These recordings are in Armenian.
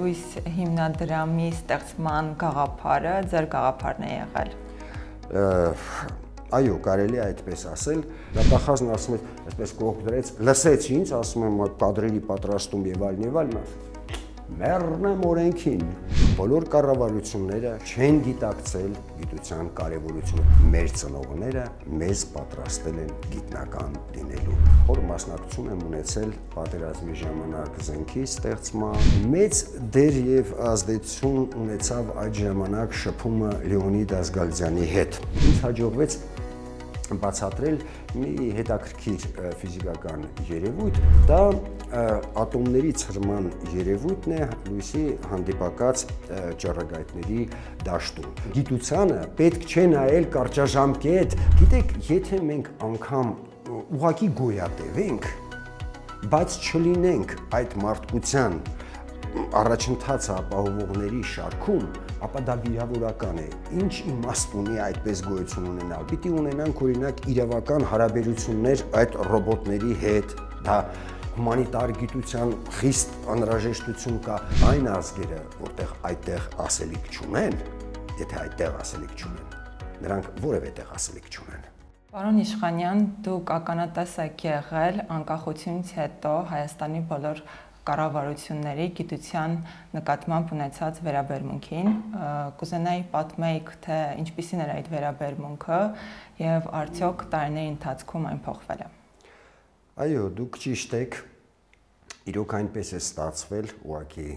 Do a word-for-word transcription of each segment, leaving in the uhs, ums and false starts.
լույս հիմնադրամի ստեղծման գաղափարը ձեր գաղափարն է եղել։ Այո, կարելի է այդպես ասել, դատախազն ասում է, այսպես կողք դրեց, լսեց ինձ, ասում եմ կադրերի պատրաստում եւ այլն եւ այլն, մեռնեմ օրենքին։ Բոլոր կառավարությունները չեն գիտակցել գիտության կարևորությունը։ Մեր ծնողները մեզ պատրաստել են գիտնական լինելու։ Որ մասնակցություն եմ ունեցել պատերազմի ժամանակ զենքի ստեղծման, մեծ դեր եւ ազդեցություն ունեցավ այդ ժամանակ շփումը Լեոնիդ Ազգալյանի հետ։ Ինձ հաջողվեց բացատրել մի հետաքրքիր ֆիզիկական երևույթ, դա ատոմների ցրման երևույթն է լույսի հանդիպակաց ճառագայթների դաշտում։ Գիտությանը պետք չէ նայել կարճաժամկետ, գիտեք, եթե մենք անգամ ուղղակի գոյատևենք, բայց չլինենք այդ մարդկության առաջընթացը ապահովողների շարքում, ապա դա վիրավորական է։ Ինչ իմաստ ունի այդպես գոյություն ունենալ։ Պիտի ունենանք օրինակ իրավական հարաբերություններ այդ ռոբոտների հետ, դա հումանիտար գիտության խիստ անհրաժեշտություն կա։ Այն ազգերը, որտեղ այդտեղ ասելիք չունեն, եթե այդտեղ ասելիք չունեն, նրանք որևէ տեղ ասելիք չունեն։ Պարոն Իշխանյան, դուք ականատես եք եղել անկախությունից հետո Հայաստանի բոլոր կառավարությունների գիտության նկատմամբ ունեցած վերաբերմունքին, կուզենայի պատմեիք, թե ինչպիսին էր այդ վերաբերմունքը եւ արդյոք տարիների ընթացքում այն փոխվել է։ Այո, դուք ճիշտ եք, իրոք այնպես է ստացվել, ուղղակի,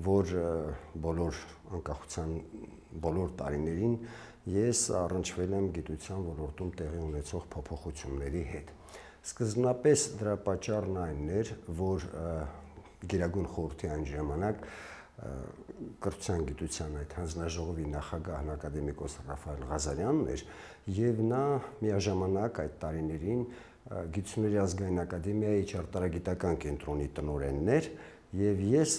որ բոլոր անկախության բոլոր տարիներին ես առնչվել եմ գիտության ոլորտում տեղի ունեցող փոփոխությունների հետ։ Սկզբնապես դրա պատճառն այն էր, որ Գերագույն խորհրդի այն ժամանակ կրթության գիտության այդ հանձնաժողովի նախագահն ակադեմիկոս Ռաֆայել Ղազարյանն էր, եւ նա միաժամանակ այդ տարիներին Գիտությունների ազգային ակադեմիայի ճարտարագիտական կենտրոնի տնօրենն էր, եւ ես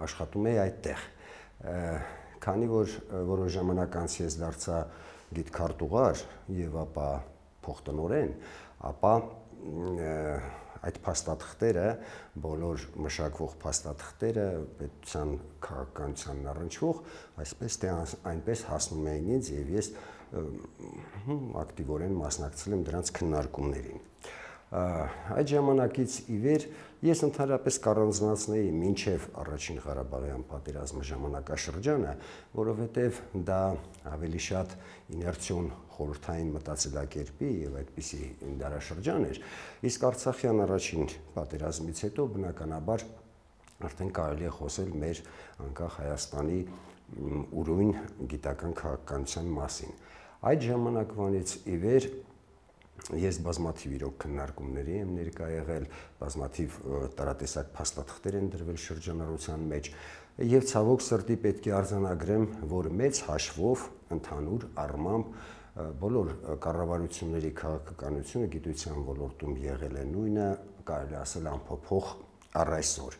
աշխատում էի այդտեղ։ Քանի որ որոշ ժամանակ անց ես դարձա գիտքարտուղար եւ ապա փոխտնօրեն, ապա այդ փաստաթղթերը, բոլոր մշակվող փաստաթղթերը պետության քաղաքականությանն առնչվող, այսպես թե այնպես հասնում էին ինձ եւ ես ակտիվորեն մասնակցել եմ դրանց քննարկումներին։ Այդ ժամանակից ի վեր ես ընդհանրապես կառանձնացնեի մինչև առաջին Ղարաբաղյան պատերազմի ժամանակաշրջանը, որովհետև դա ավելի շատ իներցիոն խորհրդային մտածելակերպի եւ այդպիսի դարաշրջան էր, իսկ Արցախյան առաջին պատերազմից հետո բնականաբար արդեն կարելի է խոսել մեր անկախ Հայաստանի ուրույն գիտական քաղաքականության մասին։ Այդ ժամանակվանից ի վեր ես բազմաթիվ իրոք քննարկումների եմ ներկա եղել, բազմաթիվ տարատեսակ փաստաթղթեր են դրվել շրջանառության մեջ եւ ցավոք սրտի պետք է արձանագրեմ, որ մեծ հաշվով ընդհանուր առմամբ բոլոր կառավարությունների քաղաքականությունը գիտության ոլորտում եղել է նույնը, կարելի ասել անփոփոխ առ այսօր։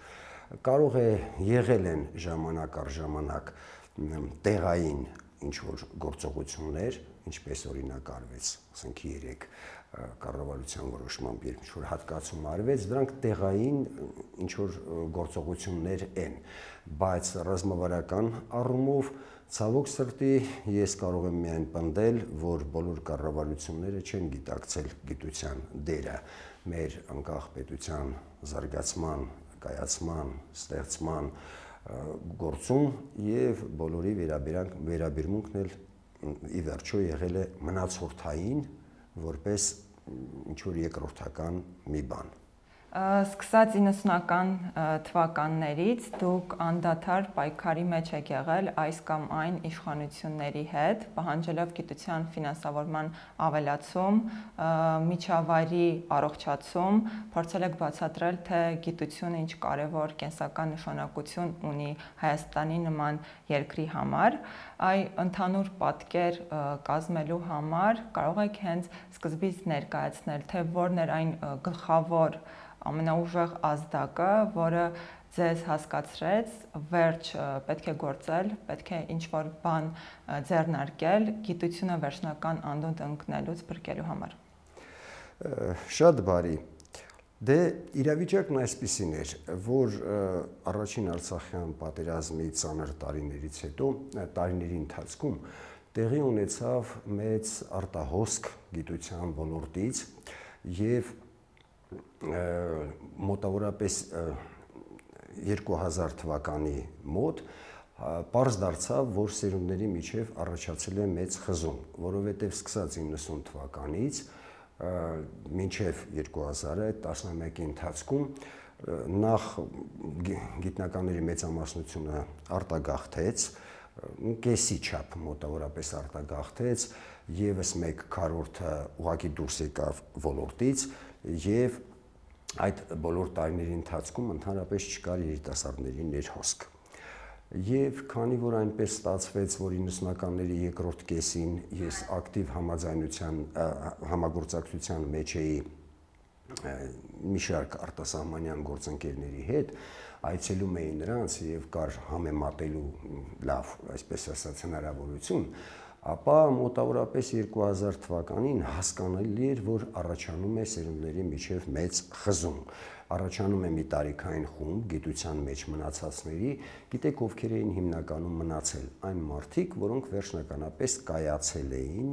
Կարող է եղել են ժամանակ առ ժամանակ տեղային ինչ-որ գործողություններ, ինչպես օրինակ արվեց, ասենք երեք կառավարության որոշմամբ երբ ինչ-որ հատկացում արվեց, դրանք տեղային ինչ-որ գործողություններ են, բայց ռազմավարական առումով ցավոք սրտի ես կարող եմ միայն պնդել, որ բոլոր կառավարությունները չեն գիտակցել գիտության դերը մեր անկախ պետության զարգացման, կայացման, ստեղծման գործում եւ բոլորի վերաբերմունքն էլ ի վերջո եղել է մնացորդային, որպես ինչ-որ երկրորդական մի բան։ Սկսած իննսունական թվականներից դուք անդադար պայքարի մեջ եք եղել այս կամ այն իշխանությունների հետ, պահանջելով գիտության ֆինանսավորման ավելացում, միջավայրի առողջացում, փորձել եք բացատրել, թե գիտությունը ինչ կարևոր կենսական նշանակություն ունի Հայաստանի նման երկրի համար, այ ընդհանուր պատկեր կազմելու համար կարող եք հենց սկզբից ներկայացնել, թե որն էր այն գլխավոր ամենաուժեղ ազդակը, որը ձեզ հասկացրեց, վերջ պետք է գործել, պետք է ինչ-որ բան ձեռնարկել գիտությունը վերջնական անդունդ ընկնելուց փրկելու համար։ Շատ բարի։ Դե իրավիճակն այսպիսին էր, որ առաջին Արցախյան պատերազմի ծանր տարիներից հետո, տարիների ընթացքում տեղի ունեցավ մեծ արտահոսք գիտության ոլորտից եւ մոտավորապես երկու հազար թվականի մոտ պարզ դարձավ, որ սերունդների միջև առաջացել է մեծ խզում, որովհետև սկսած իննսուն թվականից մինչև երկու հազարը տասնմեկի ընթացքում նախ գիտնականների մեծամասնությունը արտագաղթեց, կեսի չափ մոտավորապես արտագաղթեց, եւս մեկ քառորդը ուղղակի դուրս եկավ ոլորտից եւ այդ բոլոր տարիների ընթացքում ընդհանրապես չկար երիտասարդների ներհոսք։ Եվ քանի որ այնպես ստացվեց, որ իննսունականների երկրորդ կեսին ես ակտիվ համաձայնության համագործակցության մեջ էի մի շարք արտասահմանյան գործընկերների հետ, այցելում էի նրանց եւ կար համեմատելու լավ, այսպես ասած, հնարավորություն, ապա մոտավորապես երկու հազար թվականին հասկանալի էր, որ առաջանում է սերունդների միջև մեծ խզում։ Առաջանում է մի տարիքային խումբ գիտության մեջ մնացածների, գիտեք ովքեր էին հիմնականում մնացել, այն մարդիկ, որոնք վերջնականապես կայացել էին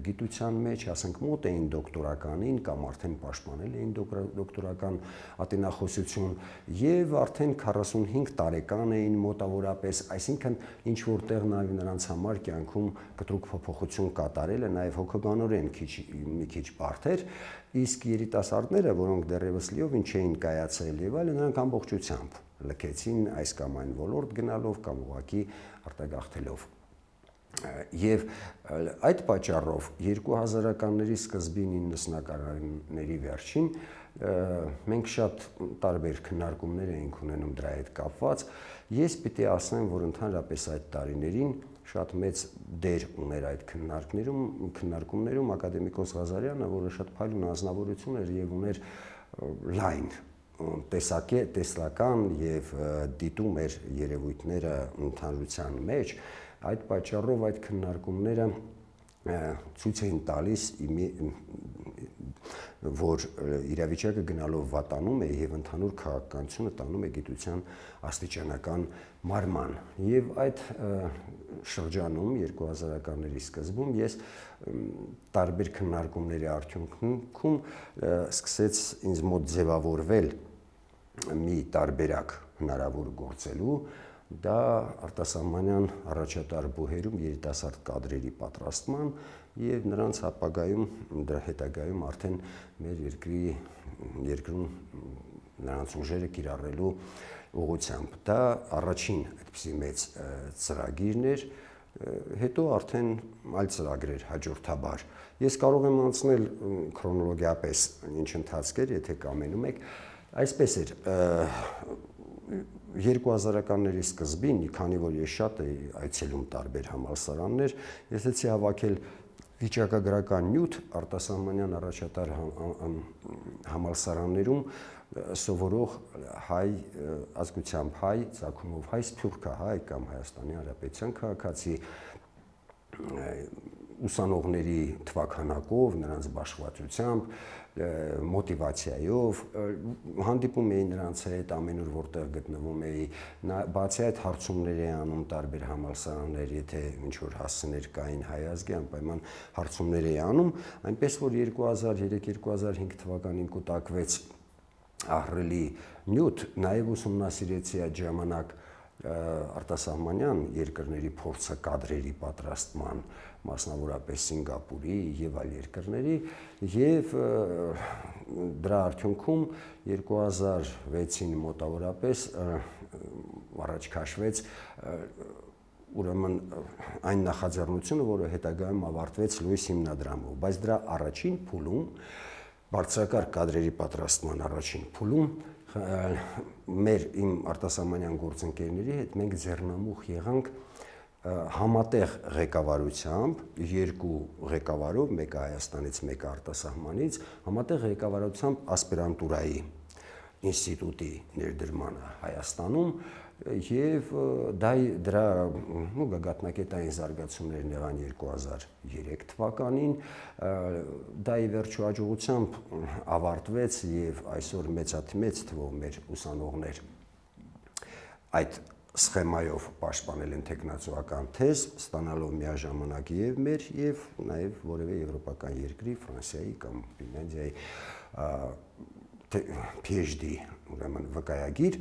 գիտության մեջ, ասենք մոտ էին դոկտորականին կամ արդեն պաշտպանել էին դոկտորական ատենախոսություն եւ արդեն քառասունհինգ տարեկան էին մոտավորապես, այսինքն ինչ որտեղ նաեւ նրանց համար կյանքում կտրուկ փոփոխություն կատարելը նաեւ հոգեբանորեն քիչ մի քիչ բարդ էր, իսկ երիտասարդները, որոնք դեռևս լիովին չէին կայացել եւ այլն, նրանք ամբողջությամբ լքեցին այս կամ այն ոլորտ գնալով կամ ուղղակի արտագաղթելով։ Եվ այդ պատճառով երկու հազարականների սկզբին իննսունականների վերջին մենք շատ տարբեր քննարկումներ էինք ունենում դրա հետ կապված։ Ես պիտի ասեմ, որ ընդհանրապես այդ տարիներին շատ մեծ դեր ուներ այդ քննարկներում, քննարկումներում ակադեմիկոս Ղազարյանը, որը շատ փայլուն անձնավորություն էր եւ ուներ լայն տեսակե տեսլական եւ դիտում էր երևույթները ընդհանրության մեջ, այդ պատճառով այդ քննարկումները ցույց էին տալիս, որ իրավիճակը գնալով վատանում է եւ ընդհանուր քաղաքականությունը տանում է գիտության աստիճանական մարման։ Եվ այդ շրջանում երկու հազարականների սկզբում ես տարբեր քննարկումների արդյունքում սկսեց ինձ մոտ ձևավորվել մի տարբերակ հնարավոր գործելու, դա արտասահմանյան առաջատար բուհերում երիտասարդ կադրերի պատրաստման եւ նրանց ապագայում դրա հետագայում արդեն մեր երկրի երկրում նրանց ուժերը կիրառելու ուղղությամբ։ Դա առաջին այդպիսի մեծ ծրագիրն էր, հետո արդեն այլ ծրագրեր հաջորդաբար։ Ես կարող եմ անցնել քրոնոլոգիապես ինչ ընթացքեր, եթե կամենում եք, այսպես էր երկու հազարականների սկզբին, քանի որ ես շատ էի այցելում տարբեր համալսարաններ, ես էի հավաքել վիճակագրական նյութ արտասահմանյան առաջատար համալսարաններում սովորող հայ ազգությամբ հայ, ծագումով հայ, սփյուռքահայ կամ Հայաստանի Հանրապետության քաղաքացի ուսանողների թվաքանակով, նրանց բաշխվածությամբ, մոտիվացիայով հանդիպում էի նրանց հետ ամենուր որտեղ գտնվում էի, բացի այդ հարցումներ էի անում տարբեր համալսարաններ, եթե ինչ-որ հասցեներ կային հայ ազգի, անպայման հարցումներ էի անում, այնպես որ երկու հազար երեք երկու հազար հինգ թվականին կուտակվեց ահռելի նյութ, նաև ուսումնասիրեցի այդ ժամանակ արտասահմանյան երկրների փորձը կադրերի պատրաստման, մասնավորապես Սինգապուրի եւ այլ երկրների, եւ դրա արդյունքում երկու հազար վեցին մոտավորապես առաջ քաշվեց ուրեմն այն նախաձեռնությունը, որը հետագայում ավարտվեց Լուիս հիմնադրամով, բայց դրա առաջին փուլում բարձրակարգ կադրերի պատրաստման առաջին փուլում մեր իմ արտասահմանյան գործընկերների հետ մենք ձեռնամուխ եղանք համատեղ ղեկավարությամբ, երկու ղեկավարով, մեկը Հայաստանից, մեկը արտասահմանից, համատեղ ղեկավարությամբ ասպիրանտուրայի ինստիտուտի ներդրմանը Հայաստանում եւ դա դրա նու գագաթնակետային զարգացումներն եղան երկու հազար երեք թվականին, դա ի վերջո հաջողությամբ ավարտվեց եւ այսօր մեծաթիվ թվով մեր ուսանողներ այդ սխեմայով պաշտպանել են տեխնացուական թեզ, ստանալով միաժամանակ եւ մեր եւ նաեւ որևէ եվրոպական երկրի, Ֆրանսիայի կամ Ֆինլանդիայի P H D, ուրեմն վկայագիր։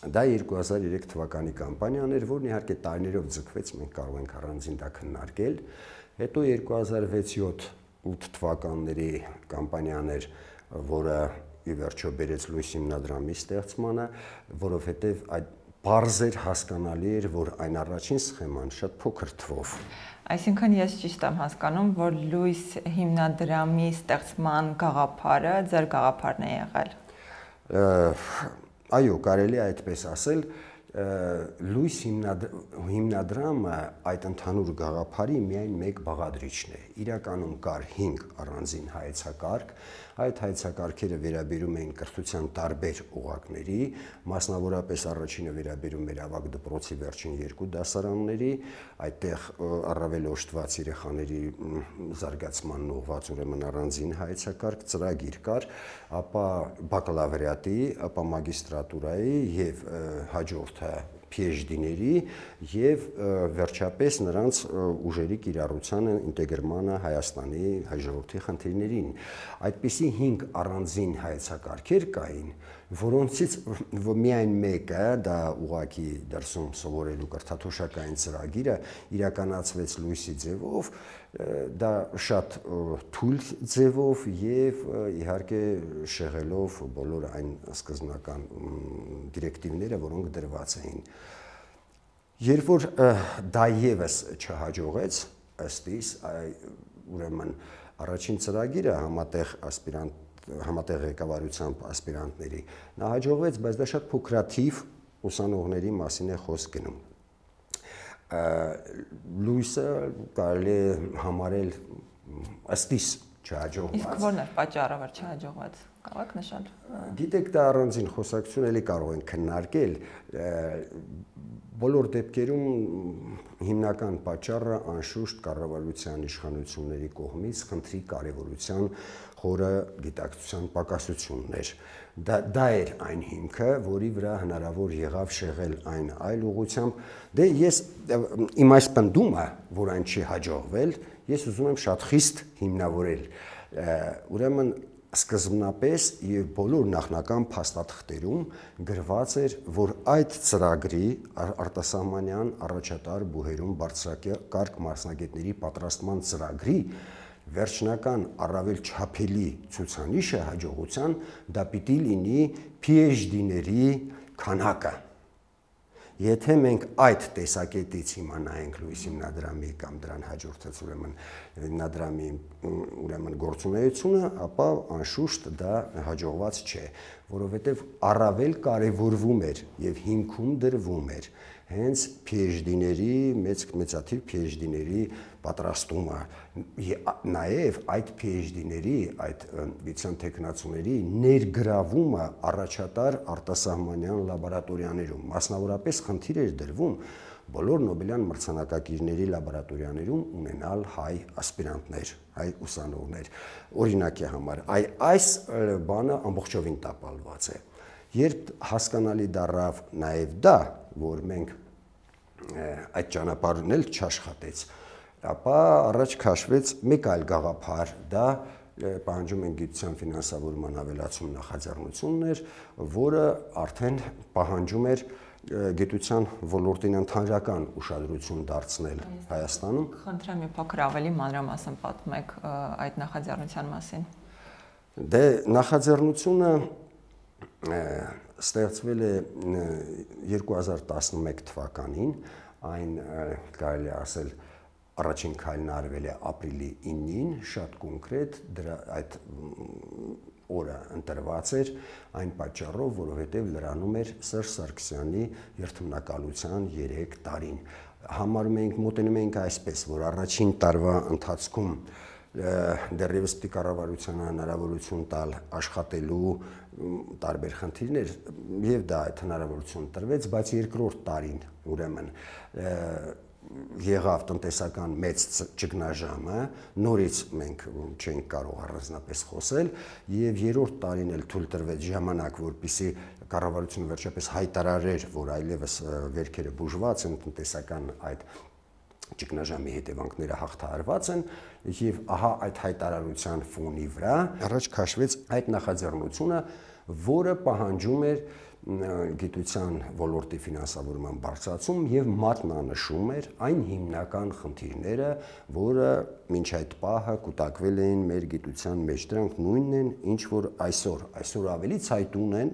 Դա երկու հազար երեք թվականի կամպանիան էր, որն իհարկե տարիներով ձգվեց, մենք կարող ենք առանձին դա քննարկել։ Հետո երկու հազար վեց յոթ ութ թվականների կամպանիան էր, որը ի վերջո բերեց լույս հիմնադրամի ստեղծմանը, որովհետեւ այդ բարձր հասկանալի էր, որ այն առաջին սխեման շատ փոքր թվով։ Այսինքն ես ճիշտ եմ հասկանում, որ լույս հիմնադրամի ստեղծման գաղափարը ձեր գաղափարն է եղել։ Այո, կարելի է այդպես ասել, լույս հիմնադրամը այդ ընդհանուր գաղափարի միայն մեկ բաղադրիչն է։ Իրականում կար հինգ առանձին հայեցակարգ, այդ հայեցակարգերը վերաբերում էին կրթության տարբեր օղակների, մասնավորապես առաջինը վերաբերում էր ավագ դպրոցի վերջին երկու դասարանների, այդտեղ առավել օժտված երեխաների զարգացմանն ուղղված ուրեմն առանձին հայեցակարգ ծրագիր կար, ապա բակալավրիատի, ապա մագիստրատուրայի եւ հաջորդը P H D-ների եւ վերջապես նրանց ուժերի կիրառությանը, ինտեգրմանը Հայաստանի հայ ժողովրդի խնդիրներին։ Այդպիսի հինգ առանձին հայեցակարգեր կային, որոնցից միայն մեկը, դա ուղղակի դրսում սովորելու կրթաթոշակային ծրագիրը իրականացվեց լույսի ձևով, դա շատ թույլ ձևով եւ իհարկե շեղելով բոլոր այն սկզբնական դիրեկտիվները, որոնք դրված էին։ Երբ որ դա եւս չհաջողեց, ըստ իս, ուրեմն առաջին ծրագիրը համատեղ ասպիրանտ համատեղ ղեկավարությամբ ասպիրանտների նա հաջողվեց, բայց դա շատ փոքրաթիվ ուսանողների մասին է խոսք գնում։ Լույսը կարելի է համարել ըստ իս չհաջողված։ Իսկ ո՞րն էր պատճառը, որ չհաջողված։ Կարող եք նշել։ Գիտեք, դա առանձին խոսակցություն էլի կարող ենք քննարկել։ Բոլոր դեպքերում հիմնական պատճառը անշուշտ կառավարության իշխանությունների կողմից խնդրի կարևորության խորը գիտակցության պակասությունն էր։ Դա դա էր այն հիմքը, որի վրա հնարավոր եղավ շեղել այն այլ ուղղությամբ։ Դե ես իմ այս պնդումը, որ այն չի հաջողվել, ես ուզում եմ շատ խիստ հիմնավորել։ Ուրեմն սկզբնապես եւ բոլոր նախնական փաստաթղթերում գրված էր, որ այդ ծրագրի արտասահմանյան առաջատար բուհերում բարձրակարգ մասնագետների պատրաստման ծրագրի վերջնական առավել չափելի ցուցանիշը հաջողության դա պիտի լինի P H D-ների քանակը։ Եթե մենք այդ տեսակետից իմանայինք լույս հիմնադրամի կամ դրան հաջորդած ուրեմն հիմնադրամի ուրեմն գործունեությունը, ապա անշուշտ դա հաջողված չէ, որովհետև առավել կարևորվում էր եւ հիմքում դրվում էր հենց P H D-ների, մեծ մեծաթիվ P H D-ների պատրաստումը, նաև այդ P H D-ների, այդ գիտության տեխնացուների ներգրավումը առաջատար արտասահմանյան լաբորատորիաներում, մասնավորապես խնդիր էր դրվում բոլոր Նոբելյան մրցանակակիրների լաբորատորիաներում ունենալ հայ ասպիրանտներ, հայ ուսանողներ։ Օրինակի համար, այ այս բանը ամբողջովին տապալված է։ Երբ հասկանալի դառավ նաև դա, որ մենք այդ ճանապարհն էլ չաշխատեց, ապա առաջ քաշվեց մեկ այլ գաղափար, դա պահանջում են գիտության ֆինանսավորման ավելացում նախաձեռնություններ, որը արդեն պահանջում էր գիտության ոլորտին ընդհանրական ուշադրություն դարձնել Հայաստանում։ Խնդրեմ մի փոքր ավելի մանրամասն պատմեք այդ նախաձեռնության մասին։ Դե նախաձեռնությունը ստեղծվել է երկու հազար տասնմեկ թվականին, այն կարելի է ասել առաջին քայլն արվել է ապրիլի իննին, շատ կոնկրետ դրա այդ օրը ընտրված էր այն պատճառով, որովհետև լրանում էր Սերժ Սարգսյանի երթմնակալության երեք տարին։ Համարում էինք, մոտենում էինք այսպես, որ առաջին տարվա ընթացքում դեռևս պիտի կառավարությանը հնարավորություն տալ աշխատելու տարբեր խնդիրներ եւ դա այդ հնարավորություն տրվեց, բայց երկրորդ տարին ուրեմն եղավ տնտեսական մեծ ճգնաժամը, նորից մենք չենք կարող առանձնապես խոսել եւ երրորդ տարին էլ թույլ տրվեց ժամանակ, որպեսզի կառավարությունը վերջապես հայտարարեր, որ այլևս վերքերը բուժված են, տնտեսական այդ ճգնաժամի հետևանքները հաղթահարված են եւ ահա այդ հայտարարության ֆոնի վրա առաջ քաշվեց այդ նախաձեռնությունը, որը պահանջում էր գիտության ոլորտի ֆինանսավորման բարձրացում եւ մատնանշում էր այն հիմնական խնդիրները, որը մինչ այդ պահը կուտակվել էին մեր գիտության մեջ, դրանք նույնն են, ինչ որ այսօր, այսօր ավելի ցայտուն են,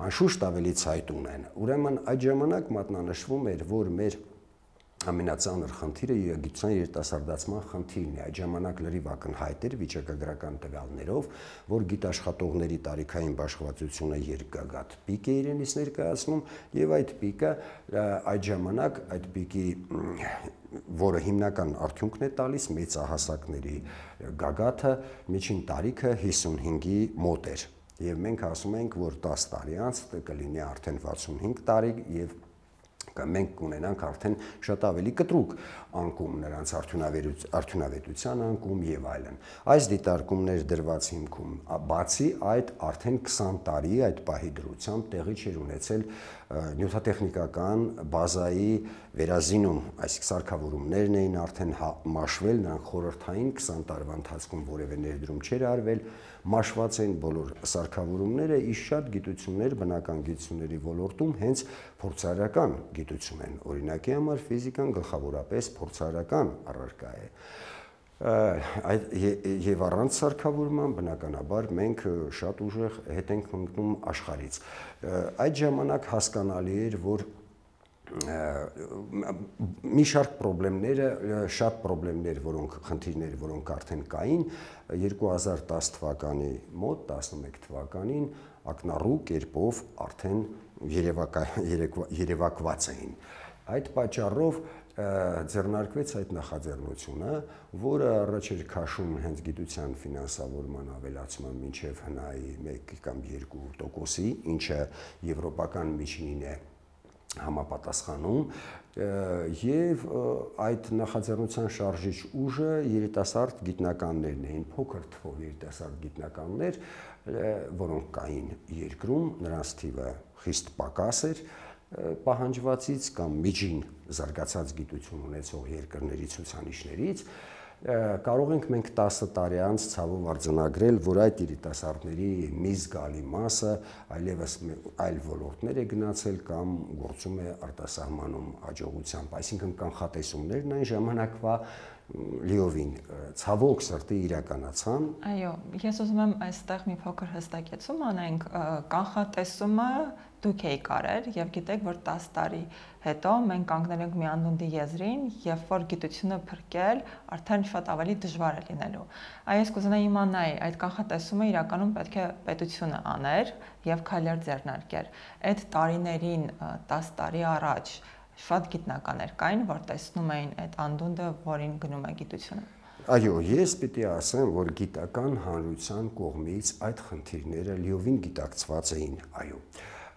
անշուշտ ավելի ցայտուն են։ Ուրեմն այդ ժամանակ մատնանշվում էր, որ մեր ամենածանր խնդիրը գիտության երիտասարդացման խնդիրն է։ Այդ ժամանակ լրիվ ակնհայտ էր վիճակագրական տվյալներով, որ գիտաշխատողների տարիքային բաշխվածությունը երկգագաթ պիկ է իրենից ներկայացնում եւ այդ պիկը այդ ժամանակ այդ պիկի որը հիմնական արդյունքն է տալիս մեծահասակների գագաթը միջին տարիքը հիսունհինգի մոտ էր եւ մենք ասում ենք, որ տասը տարի անց կլինի արդեն վաթսունհինգ տարի եւ մենք կունենանք արդեն շատ ավելի կտրուկ անկում նրանց արդյունավետության անկում եւ այլն։ Այս դիտարկումներ դրված հիմքում բացի այդ արդեն քսան տարի այդ պահի դրությամբ տեղի չէր ունեցել նյութատեխնիկական բազայի վերազինում, այսինքն սարքավորումներն էին արդեն մաշվել, նրանք խորհրդային քսան տարվա ընթացքում որևէ ներդրում չէր արվել, մաշված էին բոլոր սարքավորումները, իսկ շատ գիտություններ բնական գիտությունների ոլորտում հենց փորձարարական գիտություն են։ Օրինակի համար ֆիզիկան գլխավորապես փորձարարական առարկա է։ Եվ առանց սարքավորման բնականաբար մենք շատ ուժեղ հետ ենք ընկնում աշխարհից։ Այդ ժամանակ հասկանալի էր, որ մի շարք խնդիրները, շատ խնդիրներ, որոնք խնդիրներ, որոնք արդեն կային, երկու հազար տասը թվականի մոտ, տասնմեկ թվականին ակնառու կերպով արդեն երևակված էին։ Այդ պատճառով ձեռնարկվեց այդ նախաձեռնությունը, որը առաջ էր քաշում հենց գիտության ֆինանսավորման ավելացման մինչև հնայի մեկ կամ երկու տոկոսի, ինչը եվրոպական միջինին է համապատասխանում եւ այդ նախաձեռնության շարժիչ ուժը երիտասարդ գիտնականներն էին, փոքր թվով երիտասարդ գիտնականներ, որոնք կային երկրում, նրանց թիվը խիստ պակաս էր պահանջվածից կամ միջին զարգացած գիտություն ունեցող երկրների ցուցանիշներից, կարող ենք մենք տասը տարի անց ցավով արձանագրել, որ այդ երիտասարդների մի զգալի մասը այլևս այլ ոլորտներ է գնացել կամ գործում է արտասահմանում հաջողությամբ, այսինքն կանխատեսումներն այն ժամանակվա լիովին ցավոք սրտի իրականացան։ Այո, ես ուզում եմ այստեղ մի փոքր հստակեցում անենք, կանխատեսումը դուք եք արել եւ գիտեք, որ տասը տարի հետո մենք կանգնել ենք մի անդունդի եզրին, երբ որ գիտությունը փրկել արդեն շատ ավելի դժվար է լինելու։ Այս կուզենայի իմանալ, այդ կանխատեսումը իրականում պետք է պետությունը աներ եւ քայլեր ձեռնարկեր։ Այդ տարիներին տասը տարի առաջ շատ գիտնականներ կային, որ տեսնում էին այդ անդունդը, որին գնում է գիտությունը։ Այո, ես պիտի ասեմ, որ գիտական հանրության կողմից այդ խնդիրները լիովին գիտակցված էին, այո։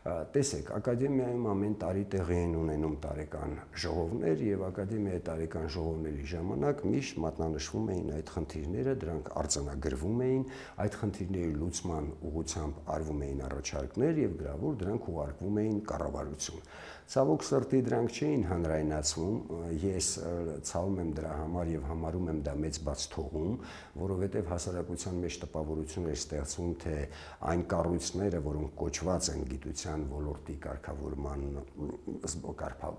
Տեսեք, ակադեմիայում ամեն տարի տեղի են ունենում տարեկան ժողովներ եւ ակադեմիայի տարեկան ժողովների ժամանակ միշտ մատնանշվում էին այդ խնդիրները, դրանք արձանագրվում էին, այդ խնդիրների լուծման ուղղությամբ արվում էին առաջարկներ եւ գրավոր դրանք ուղարկվում էին կառավարություն։ Ցավոք սրտի դրանք չէին հանրայնացվում, ես ցավում եմ դրա համար եւ համարում եմ դա մեծ բաց թողում, որովհետեւ հասարակության մեջ տպավորություն է ստեղծվում, թե այն կառույցները, որոնք կոչված են գիտության ոլորտի կարգավորման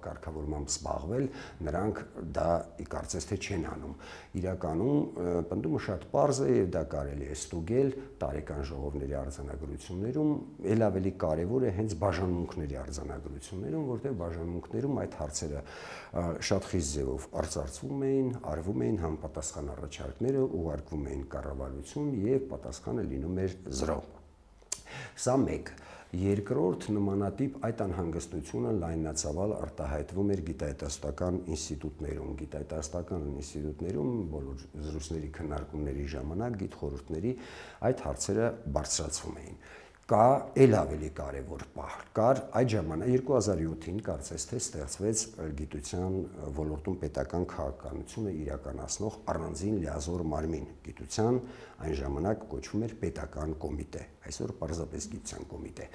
կարգավորմամբ զբաղվել, նրանք դա կարծես թե չեն անում։ Իրականում պնդումը շատ պարզ է եւ դա կարելի է ստուգել տարեկան ժողովների արձանագրություններում, ել ավելի կարեւոր է հենց բաժանմունքների արձանագրություններում, որտեղ բաժանմունքներում այդ հարցերը շատ խիստ ձևով արծարծվում էին, արվում էին համապատասխան առաջարկները, ուղարկվում էին կառավարություն եւ պատասխանը լինում էր զրո։ Սա մեկ։ Երկրորդ նմանատիպ այդ անհանգստությունը լայնացավալ արտահայտվում էր գիտահետազոտական ինստիտուտներում։ Գիտահետազոտական ինստիտուտներում բոլոր զրույցների քննարկումների ժամանակ գիտխորհուրդների այդ հարցերը բարձրացվում էին։ կա էլ ավելի կարևոր պահ։ Կար այդ ժամանակ երկու հազար յոթին կարծես թե ստեղծվեց գիտության ոլորտում պետական քաղաքականությունը իրականացնող առանձին լիազոր մարմին։ Գիտության այն ժամանակ կոչվում էր պետական կոմիտե, այսօր պարզապես գիտության կոմիտե։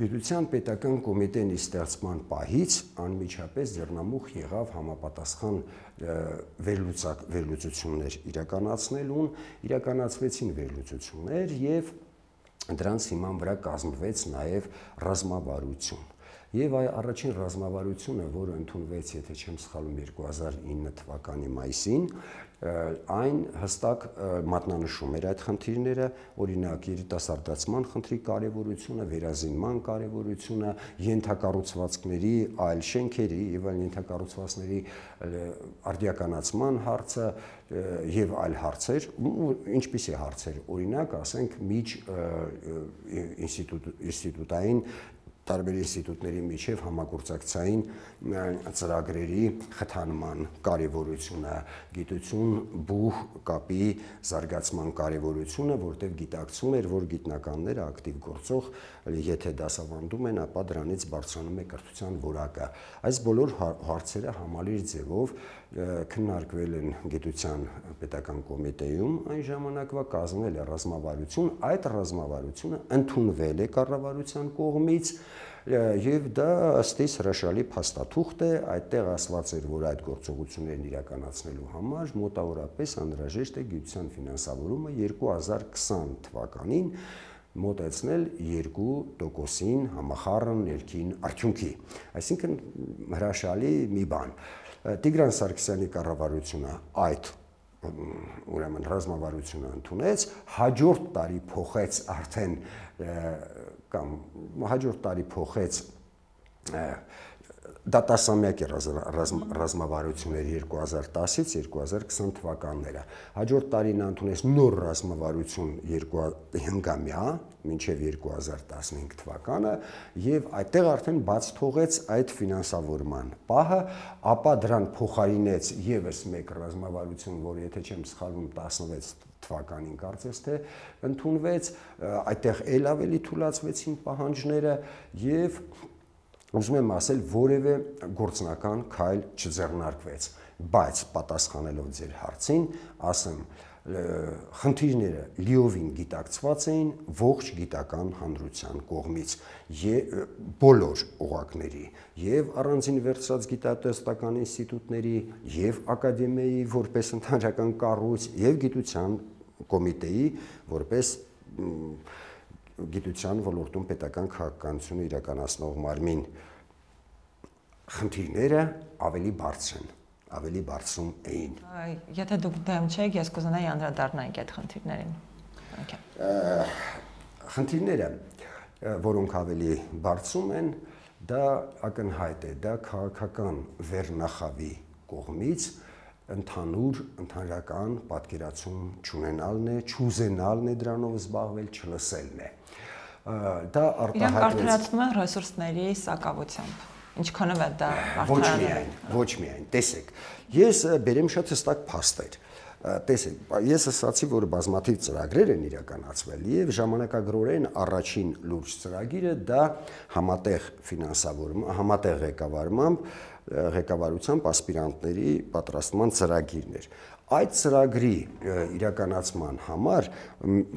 Գիտության պետական կոմիտեի ստեղծման պահից անմիջապես ձեռնամուխ եղավ համապատասխան վերլուծություններ իրականացնելուն, իրականացվեցին վերլուծություններ եւ դրանց հիման վրա կազմվեց նաև ռազմավարություն։ Եվ այ առաջին ռազմավարությունը, որը ընդունվեց, եթե չեմ սխալվում, երկու հազար ինը թվականի մայիսին, այն հստակ մատնանշում էր այդ խնդիրները, օրինակ երիտասարդացման խնդրի կարևորությունը, վերազինման կարևորությունը, ենթակառուցվածքների, այլ շենքերի եւ այլ ենթակառուցվածքների արդիականացման հարցը եւ այլ հարցեր, ինչպիսի հարցեր, օրինակ, ասենք, միջ ինստիտուտային տարբեր ինստիտուտների միջև համագործակցային ծրագրերի խթանման կարևորությունը, գիտություն բուհ կապի զարգացման կարևորությունը, որտեղ գիտակցում էր, որ գիտնականները ակտիվ գործող, եթե դասավանդում են, ապա դրանից բարձրանում է կրթության որակը։ Այս բոլոր հարցերը համալիր ձևով քննարկվել են գիտության պետական կոմիտեում, այն ժամանակվա կազմվել է ռազմավարություն, այդ ռազմավարությունը ընդունվել է կառավարության կողմից եւ դա ըստ իս հրաշալի փաստաթուղթ է, այդտեղ ասված էր, որ այդ գործողություններն իրականացնելու համար մոտավորապես անհրաժեշտ է գիտության ֆինանսավորումը երկու հազար քսան թվականին մոտեցնել երկու տոկոսին համախառն ներքին արդյունքի։ Այսինքն հրաշալի մի բան։ Տիգրան Սարգսյանի կառավարությունը այդ ուրեմն ռազմավարությունը ընդունեց, հաջորդ տարի փոխեց արդեն կամ հաջորդ տարի փոխեց դատասամյակ է ռազմավարությունների երկու հազար տասից երկու հազար քսան թվականները։ Հաջորդ տարի նա ընդունեց նոր ռազմավարություն հնգամյա, մինչև երկու հազար տասնհինգ թվականը, եւ այդտեղ արդեն բաց թողեց այդ ֆինանսավորման պահը, ապա դրան փոխարինեց եւս մեկ ռազմավարություն, որը եթե չեմ սխալվում տասնվեց թվականին կարծես թե ընդունվեց, այդտեղ ել ավելի թուլացվեցին պահանջները եւ ուզում եմ ասել, որևէ գործնական քայլ չձեռնարկվեց, բայց պատասխանելով ձեր հարցին, ասեմ, խնդիրները լիովին գիտակցված էին ողջ գիտական հանրության կողմից բոլոր օղակների եւ առանձին վերցրած գիտատեստական ինստիտուտների եւ ակադեմիայի որպես ընդհանրական կառույց եւ գիտության կոմիտեի որպես գիտության ոլորտում պետական քաղաքականություն իրականացնող մարմին խնդիրները ավելի բարձր են, ավելի բարձրում էին։ Եթե դուք դեմ չեք, ես կուզենայի անդրադառնալ այդ խնդիրներին։ Խնդիրները, որոնք ավելի բարձրում են, դա ակնհայտ է, դա քաղաքական վերնախավի կողմից ընդհանուր ընդհանրական պատկերացում չունենալն է, չուզենալն է դրանով զբաղվել, չլսելն է։ Դա արտահայտվեց։ Իրանք արդարացնում են ռեսուրսների սակավությամբ։ Ինչքանով է դա արդարանում։ Ոչ միայն, տեսեք, ես բերեմ շատ հստակ փաստեր։ Տեսեք, ես ասացի, որ բազմաթիվ ծրագրեր են իրականացվել եւ ժամանակագրորեն առաջին լուրջ ծրագիրը դա համատեղ ֆինանսավորում, համատեղ ղեկավարմամբ ղեկավարությամբ ասպիրանտների պատրաստման ծրագիրն էր։ Այդ ծրագրի իրականացման համար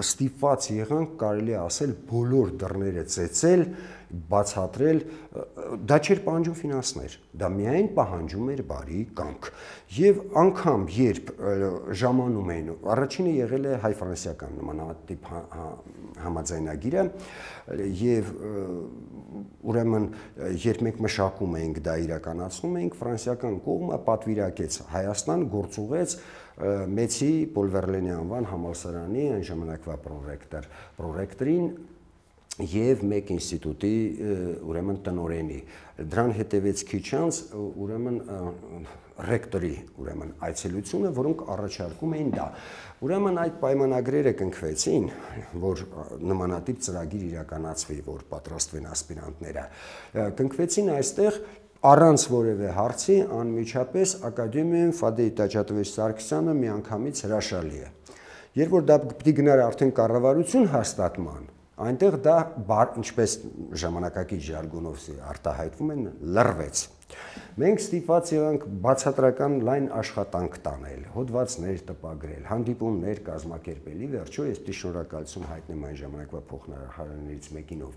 ստիպված եղանք կարելի ասել բոլոր դռները ծեծել, բացատրել, դա չէր պահանջում ֆինանսներ, դա միայն պահանջում էր բարի կամք։ Եվ անգամ երբ ժամանում էին, առաջինը եղել է հայ-ֆրանսիական նմանատիպ համաձայնագիրը եւ ուրեմն երբ մենք մշակում էինք դա իրականացնում էինք, ֆրանսիական կողմը պատվիրակեց Հայաստան գործուղեց Մեծի Պոլ Վերլենի անվան համալսարանի այն ժամանակվա պրոռեկտոր պրոռեկտորին եւ մեկ ինստիտուտի ուրեմն տնօրենի դրան հետևեց քիչ անց ուրեմն ռեկտորի ուրեմն այցելությունը, որոնք առաջարկում էին դա։ Ուրեմն այդ պայմանագրերը կնքվեցին, որ նմանատիպ ծրագիր իրականացվի, որ պատրաստվեն ասպիրանտները։ Կնքվեցին այստեղ առանց որևէ հարցի անմիջապես ակադեմիայում Ֆադեյ Տաճատովիչ Սարգսյանը միանգամից հրաշալի է։ Երբ որ դա պիտի գնար արդեն կառավարություն հաստատման, Այնտեղ դա ինչպես ժամանակակից ժարգոնով արտահայտվում են, լռվեց։ Մենք ստիպված եղանք բացատրական լայն աշխատանք տանել, հոդվածներ տպագրել, հանդիպումներ կազմակերպել։ Ի վերջո ես շնորհակալություն հայտնեմ այն ժամանակվա փոխնախարարներից մեկին, ով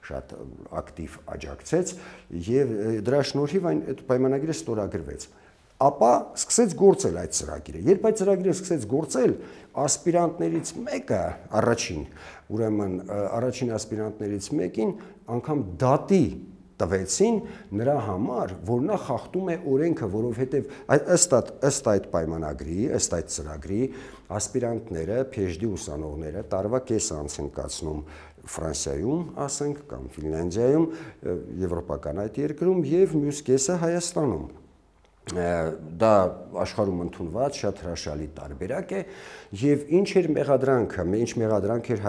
շատ ակտիվ աջակցեց, եւ դրա շնորհիվ այն այդ պայմանագիրը ստորագրվեց։ Ապա սկսեց գործել այդ ծրագիրը։ Երբ այդ ծրագիրը սկսեց գործել, ասպիրանտներից մեկը, առաջին, ուրեմն առաջին ասպիրանտներից մեկին անգամ դատի տվեցին նրա համար, որ նա խախտում է օրենքը, որովհետև ըստ ըստ այդ պայմանագրի, ըստ այդ ծրագրի, ասպիրանտները, փեժդի ուսանողները տարվա կես անց են կացնում Ֆրանսիայում, ասենք, կամ Ֆինլանդիայում, եվրոպական այդ երկրում եւ մյուս կեսը Հայաստանում։ Դա աշխարհում ընդունված շատ հրաշալի տարբերակ է եւ ինչ էր մեղադրանքը, ինչ մեղադրանք էր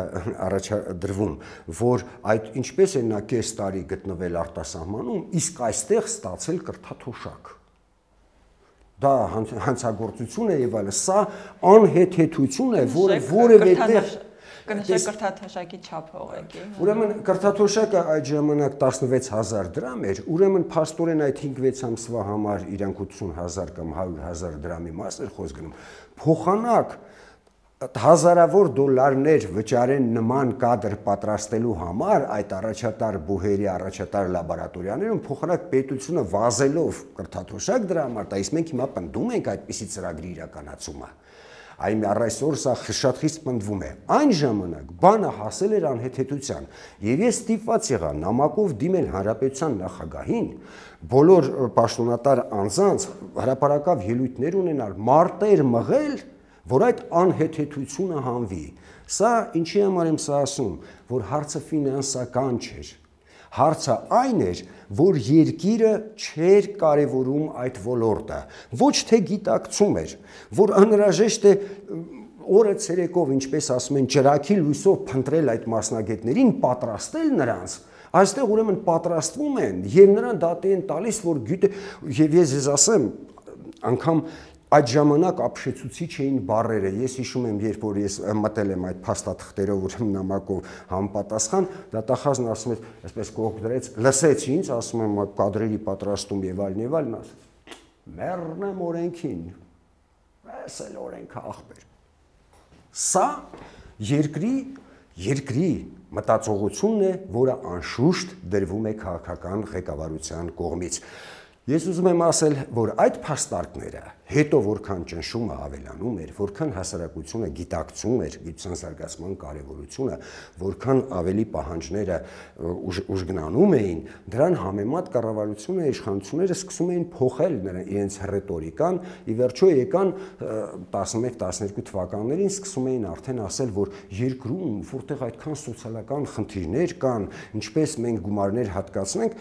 առաջադրվում, որ այդ ինչպես է նա կես տարի գտնվել արտասահմանում, իսկ այստեղ ստացել կրթաթոշակ։ Դա հանցագործություն է եւ այլն, սա անհեթեթություն է, որը որևէ տեղ Կնշեք կրթաթոշակի չափը ուղղակի։ Ուրեմն կրթաթոշակը այդ ժամանակ տասնվեց հազար դրամ էր, ուրեմն փաստորեն այդ հինգ-վեց ամսվա համար իրանք ութսուն հազար կամ հարյուր հազար դրամի մաս էր խոսք գնում։ Փոխանակ հազարավոր դոլարներ վճարեն նման կադր պատրաստելու համար այդ առաջատար բուհերի, առաջատար լաբորատորիաներում, փոխանակ պետությունը վազելով կրթաթոշակ դրա համար տա, իսկ մենք հիմա պնդում ենք այդպիսի ծրագրի իրականացումը։ Այն առայսօր սա շատ խիստ պնդվում է։ Այն ժամանակ բանը հասել էր անհեթեթության, եւ ես ստիպված եղա նամակով դիմել հանրապետության նախագահին, բոլոր պաշտոնատար անձանց հրապարակավ ելույթներ ունենալ, մարտեր մղել, որ այդ անհեթեթությունը հանվի։ Սա ինչի համար եմ սա ասում, որ հարցը ֆինանսական չէր։ Հարցը այն էր, որ երկիրը չէր կարևորում այդ ոլորտը, ոչ թե գիտակցում էր, որ անհրաժեշտ է օրը ցերեկով, ինչպես ասում են, ջրակի լույսով փնտրել այդ մասնագետներին, պատրաստել նրանց, այստեղ ուրեմն պատրաստվում են եւ նրան դատի են տալիս, որ գիտե, եւ ես ես ասեմ, անգամ այդ ժամանակ ապշեցուցիչ էին բառերը։ Ես հիշում եմ, երբ որ ես մտել եմ այդ փաստաթղթերով ու նամակով համապատասխան, դատախազն ասում է, այսպես կողք դրեց, լսեց ինձ, ասում եմ կադրերի պատրաստում եւ այլն եւ այլն, ասում։ Մեռնեմ օրենքին։ Էս էլ օրենքը ախպեր։ Սա երկրի երկրի մտածողությունն է, որը անշուշտ դրվում է քաղաքական ղեկավարության կողմից։ Ես ուզում եմ ասել, որ այդ փաստարկները հետո որքան ճնշումը ավելանում էր, որքան հասարակությունը գիտակցում էր գիտության զարգացման կարևորությունը, որքան ավելի պահանջները ուժգնանում էին, դրան համեմատ կառավարությունը, իշխանությունները սկսում էին փոխել իրենց ռետորիկան, ի վերջո եկան տասնմեկ տասներկու թվականներին սկսում էին արդեն ասել, որ երկրում, որտեղ այդքան սոցիալական խնդիրներ կան, ինչպես մենք գումարներ հատկացնենք,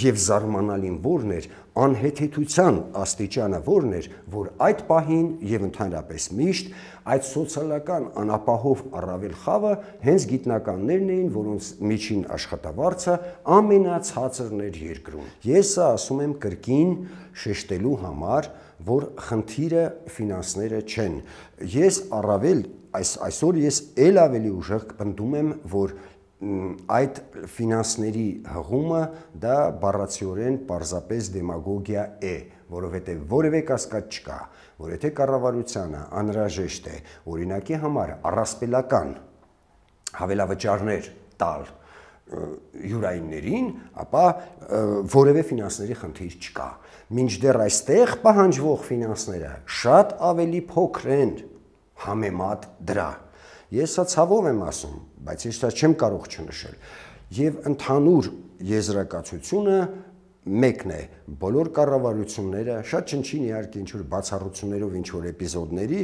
եւ զարմանալին որն էր անհեթեթության աստիճանը որն էր, որ այդ պահին եւ ընդհանրապես միշտ այդ սոցիալական անապահով առավել խավը հենց գիտնականներն էին, որոնց միջին աշխատավարձը ամենացածրն էր երկրում։ Ես սա ասում եմ կրկին շեշտելու համար, որ խնդիրը ֆինանսները չեն։ Ես առավել այս այսօր ես ել ավելի ուժեղ պնդում եմ, որ այդ ֆինանսների հղումը դա բառացիորեն պարզապես դեմագոգիա է, որովհետև որևէ կասկած չկա, որ եթե կառավարությանը անհրաժեշտ է օրինակի համար առասպելական հավելավճարներ տալ յուրայիններին, ապա որևէ ֆինանսների խնդիր չկա։ Մինչդեռ այստեղ պահանջվող ֆինանսները շատ ավելի փոքր են համեմատ դրա։ Ես սա ցավով եմ ասում, բայց ես դա չեմ կարող չնշել։ Եվ ընդհանուր եզրակացությունը մեկն է, բոլոր կառավարությունները, շատ չնչին իհարկե ինչ-որ բացառություններով ինչ-որ էպիզոդների,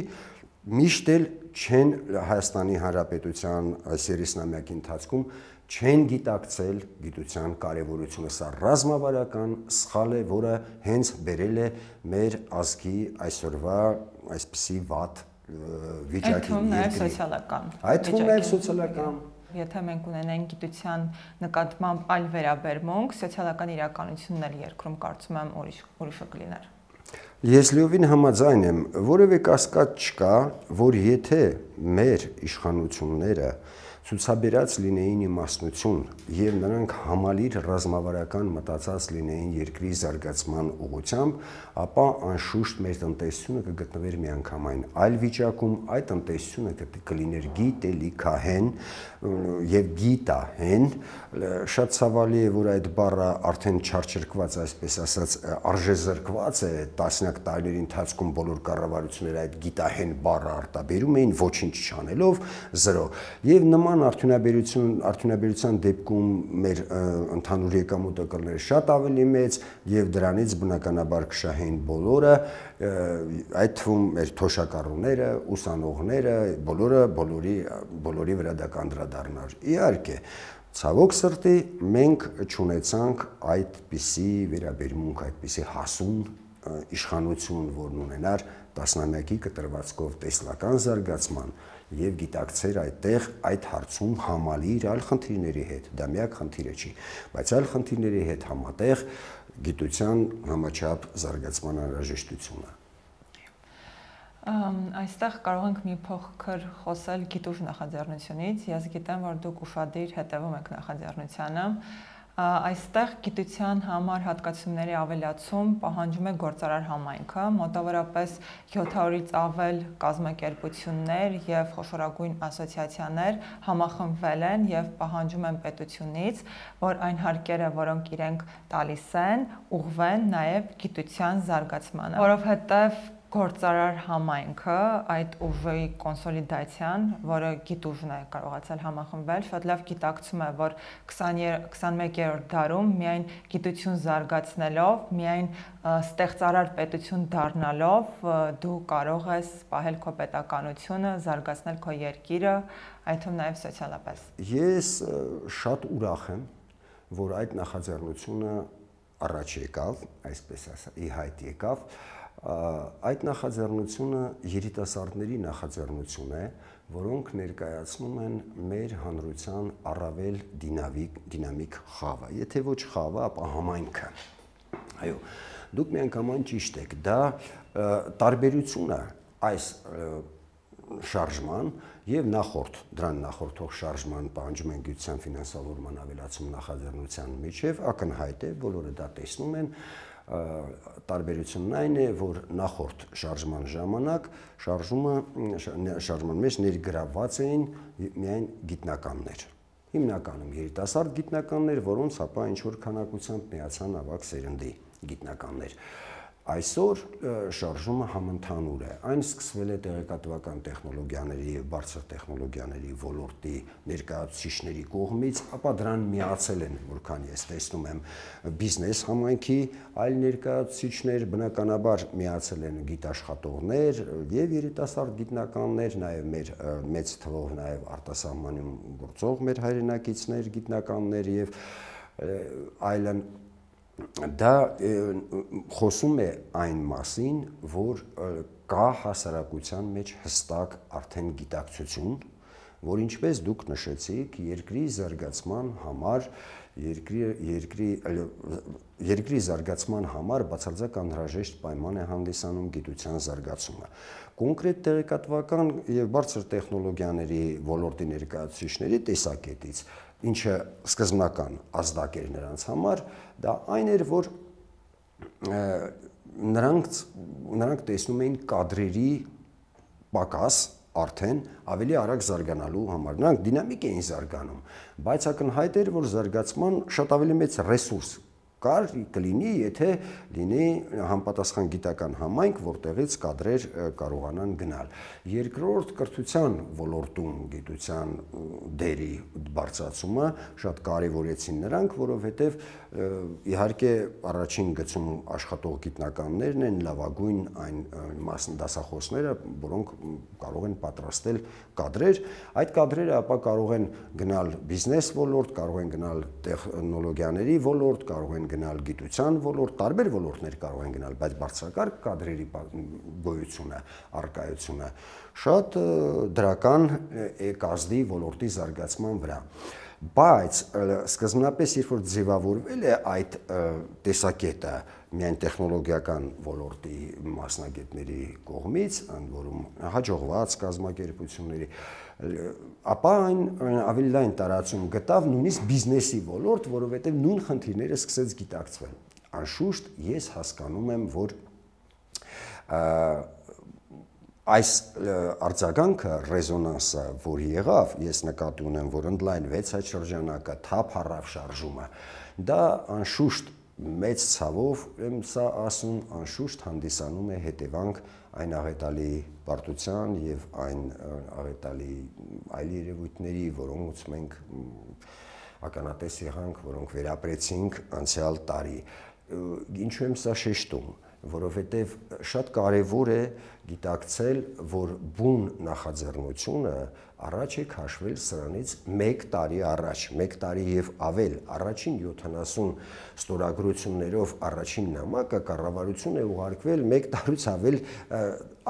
միշտ էլ չեն Հայաստանի Հանրապետության այս երեսնամյակի ընթացքում չեն գիտակցել գիտության կարևորությունը։ Սա ռազմավարական սխալ է, որը հենց բերել է մեր ազգի այսօրվա այսպիսի վատ վիճակի։ Այդ թվում նաև սոցիալական։ Այդ թվում նաև սոցիալական։ Եթե մենք ունենենք գիտության նկատմամբ այլ վերաբերմունք, սոցիալական իրականությունն էլ երկրում կարծում եմ ուրիշ ուրիշը կլիներ։ Ես լիովին համաձայն եմ, որևէ կասկած չկա, որ եթե մեր իշխանությունները ցուցաբերած լինեին իմաստնություն եւ նրանք համալիր ռազմավարական մտածած լինեին երկրի զարգացման ուղղությամբ, ապա անշուշտ մեր տնտեսությունը կգտնվեր միանգամայն այլ վիճակում, այդ տնտեսությունը կլիներ գիտելիքահեն եւ գիտահեն, շատ ցավալի է, որ այդ բառը արդեն չարչրկված, այսպես ասած, արժեզրկված է, տասնյակ տարիների ընթացքում բոլոր կառավարությունները այդ գիտահեն բառը արտաբերում էին, ոչինչ չանելով, զրո։ Եվ նման արդյունաբերություն, արդյունաբերության դեպքում մեր ընդհանուր եկամուտը կլներ շատ ավելի մեծ եւ դրանից բնականաբար կշահեն բոլորը, այդ թվում մեր թոշակառուները, ուսանողները, բոլորը բոլորի բոլորի վրա դա կանդրադառնար։ Իհարկե, ցավոք սրտի մենք չունեցանք այդպիսի վերաբերմունք, այդպիսի հասուն իշխանություն, որն ունենար տասնամյակի կտրվածքով տեսլական զարգացման եւ գիտակցեր այդտեղ այդ հարցում համալիր այլ խնդիրների հետ, դա միակ խնդիրը չի, բայց այլ խնդիրների հետ համատեղ գիտության համաչափ զարգացման անհրաժեշտությունը։ Այստեղ կարող ենք մի փոքր խոսել գիտուժ նախաձեռնությունից, ես գիտեմ, որ դուք ուշադիր հետևում եք նախաձեռնությանը, այստեղ գիտության համար հատկացումների ավելացում պահանջում է գործարար համայնքը, մոտավորապես յոթ հարյուրից ավել կազմակերպություններ եւ խոշորագույն ասոցիացիաներ համախմբվել են եւ պահանջում են պետությունից, որ այն հարկերը, որոնք իրենք տալիս են, ուղղվեն նաեւ գիտության զարգացմանը, որովհետեւ գործարար համայնքը, այդ ուժի կոնսոլիդացիան, որը գիտուժն է կարողացել համախմբվել, շատ լավ գիտակցում է, որ քսաներորդ դարում միայն գիտություն զարգացնելով, միայն ստեղծարար պետություն դառնալով դու կարող ես պահել քո պետականությունը, զարգացնել քո երկիրը, այդ թվում նաև սոցիալապես։ Ես շատ ուրախ եմ, որ այդ նախաձեռնությունը առաջ եկավ, այսպես ասած, ի հայտ եկավ, այդ նախաձեռնությունը երիտասարդների նախաձեռնություն է, որոնք ներկայացնում են մեր հանրության առավել դինամիկ, դինամիկ խավը, եթե ոչ խավը, ապա համայնքը։ Այո, դուք միանգամայն ճիշտ եք, դա տարբերությունը այս շարժման եւ նախորդ դրան նախորդող շարժման պահանջում են գիտության ֆինանսավորման ավելացում նախաձեռնության միջև ակնհայտ է, բոլորը դա տեսնում են, տարբերությունն այն է, որ նախորդ շարժման ժամանակ շարժումը շարժման մեջ ներգրավված էին միայն գիտնականներ, հիմնականում երիտասարդ գիտնականներ, որոնց ապա ինչ-որ քանակությամբ միացան ավագ սերնդի գիտնականներ։ Այսօր շարժումը համընդհանուր է, այն սկսվել է տեղեկատվական տեխնոլոգիաների եւ բարձր տեխնոլոգիաների ոլորտի ներկայացուցիչների կողմից, ապա դրան միացել են, որքան ես տեսնում եմ, բիզնես համայնքի այլ ներկայացուցիչներ, բնականաբար միացել են գիտաշխատողներ եւ երիտասարդ գիտնականներ, նաեւ մեր մեծ թվով նաեւ արտասահմանում գործող մեր հայրենակիցներ, գիտնականներ եւ այլն։ Դա խոսում է այն մասին, որ կա հասարակության մեջ հստակ արդեն գիտակցություն, որ ինչպես դուք նշեցիք, երկրի զարգացման համար, երկրի, երկրի, երկրի զարգացման համար բացարձակ անհրաժեշտ պայման է հանդիսանում գիտության զարգացումը։ Կոնկրետ տեղեկատվական եւ բարձր տեխնոլոգիաների ոլորտի ներկայացուցիչների տեսակետից, ինչը սկզբնական ազդակ էր նրանց համար, դա այն էր, որ նրանք, նրանք տեսնում էին կադրերի պակաս արդեն ավելի արագ զարգանալու համար, նրանք դինամիկ էին զարգանում, բայց ակնհայտ էր, որ զարգացման շատ ավելի մեծ ռեսուրս կար կլինի, եթե լինի համապատասխան գիտական համայնք, որտեղից կադրեր կարողանան գնալ։ Երկրորդ, կրթության ոլորտում գիտության դերի բարձրացումը շատ կարևորեցին նրանք, որովհետև իհարկե առաջին գծում աշխատող գիտնականներն են լավագույն այն դասախոսները, որոնք կարող են պատրաստել կադրեր, այդ կադրերը ապա կարող են գնալ բիզնես ոլորտ, կարող են գնալ տեխնոլոգիաների ոլորտ, կարող են գնալ գիտության ոլորտ, տարբեր ոլորտներ կարող են գնալ, բայց բարձրակարգ կադրերի գոյությունը, առկայությունը շատ դրական է կազդի ոլորտի զարգացման վրա։ Բայց սկզբնապես, երբ որ ձևավորվել է այդ տեսակետը միայն տեխնոլոգիական ոլորտի մասնագետների կողմից, ընդ որում հաջողված կազմակերպությունների, ապա այն ավելի լայն տարածում գտավ նույնիսկ բիզնեսի ոլորտ, որովհետև նույն խնդիրները սկսեց գիտակցվել։ Անշուշտ ես հասկանում եմ, որ այս արձագանքը, ռեզոնանսը, որ եղավ, ես նկատի ունեմ, որ ընդլայնվեց այդ շրջանակը, թափ առավ շարժումը, դա անշուշտ մեծ ցավով եմ սա ասում, անշուշտ հանդիսանում է հետևանք այն աղետալի պարտության եւ այն աղետալի այլ երևույթների, որոնց մենք ականատես եղանք, որոնք վերապրեցինք անցյալ տարի։ Ինչու եմ սա շեշտում, որովհետև շատ կարևոր է գիտակցել, որ բուն նախաձեռնությունը առաջ է քաշվել սրանից մեկ տարի առաջ, մեկ տարի եւ ավել, առաջին յոթանասուն ստորագրություններով առաջին նամակը կառավարություն է ուղարկվել մեկ տարուց ավել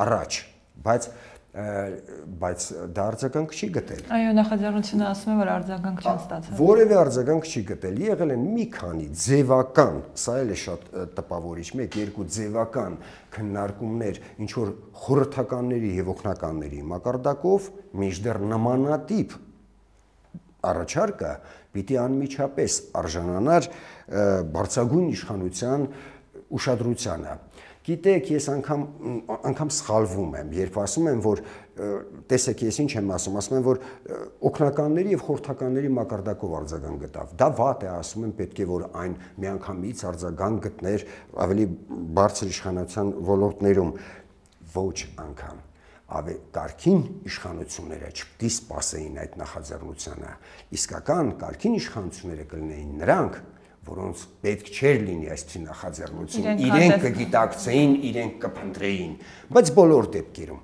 առաջ, բայց բայց դա արձագանք չի գտել։ Այո, նախաձեռնությունը ասում է, որ արձագանք չեն ստացել։ Որևէ արձագանք չի գտել։ Եղել են մի քանի ձևական, սա էլ է շատ տպավորիչ, մեկ երկու ձևական քննարկումներ, ինչ որ խորհրդականների եւ օգնականների մակարդակով, մինչդեռ նմանատիպ առաջարկը պիտի անմիջապես արժանանար բարձրագույն իշխանության ուշադրությանը։ Գիտեք, ես անգամ անգամ սխալվում եմ, երբ ասում եմ, որ տեսեք, ես ինչ եմ ասում, ասում եմ, որ օգնականների եւ խորհրդականների մակարդակով արձագանք գտավ։ Դա վատ է, ասում եմ, պետք է որ այն միանգամից արձագանք գտներ ավելի բարձր իշխանության ոլորտներում, ոչ անգամ։ Ավելի կարգին իշխանությունները չպետք է սпасեին այդ նախաձեռնությանը։ Իսկական կարգին իշխանությունները կլինեին նրանք, որոնց պետք չէր լինի այսպիսի նախաձեռնություն, իրենք կգիտակցեին, իրենք կփնտրեին, բայց բոլոր դեպքերում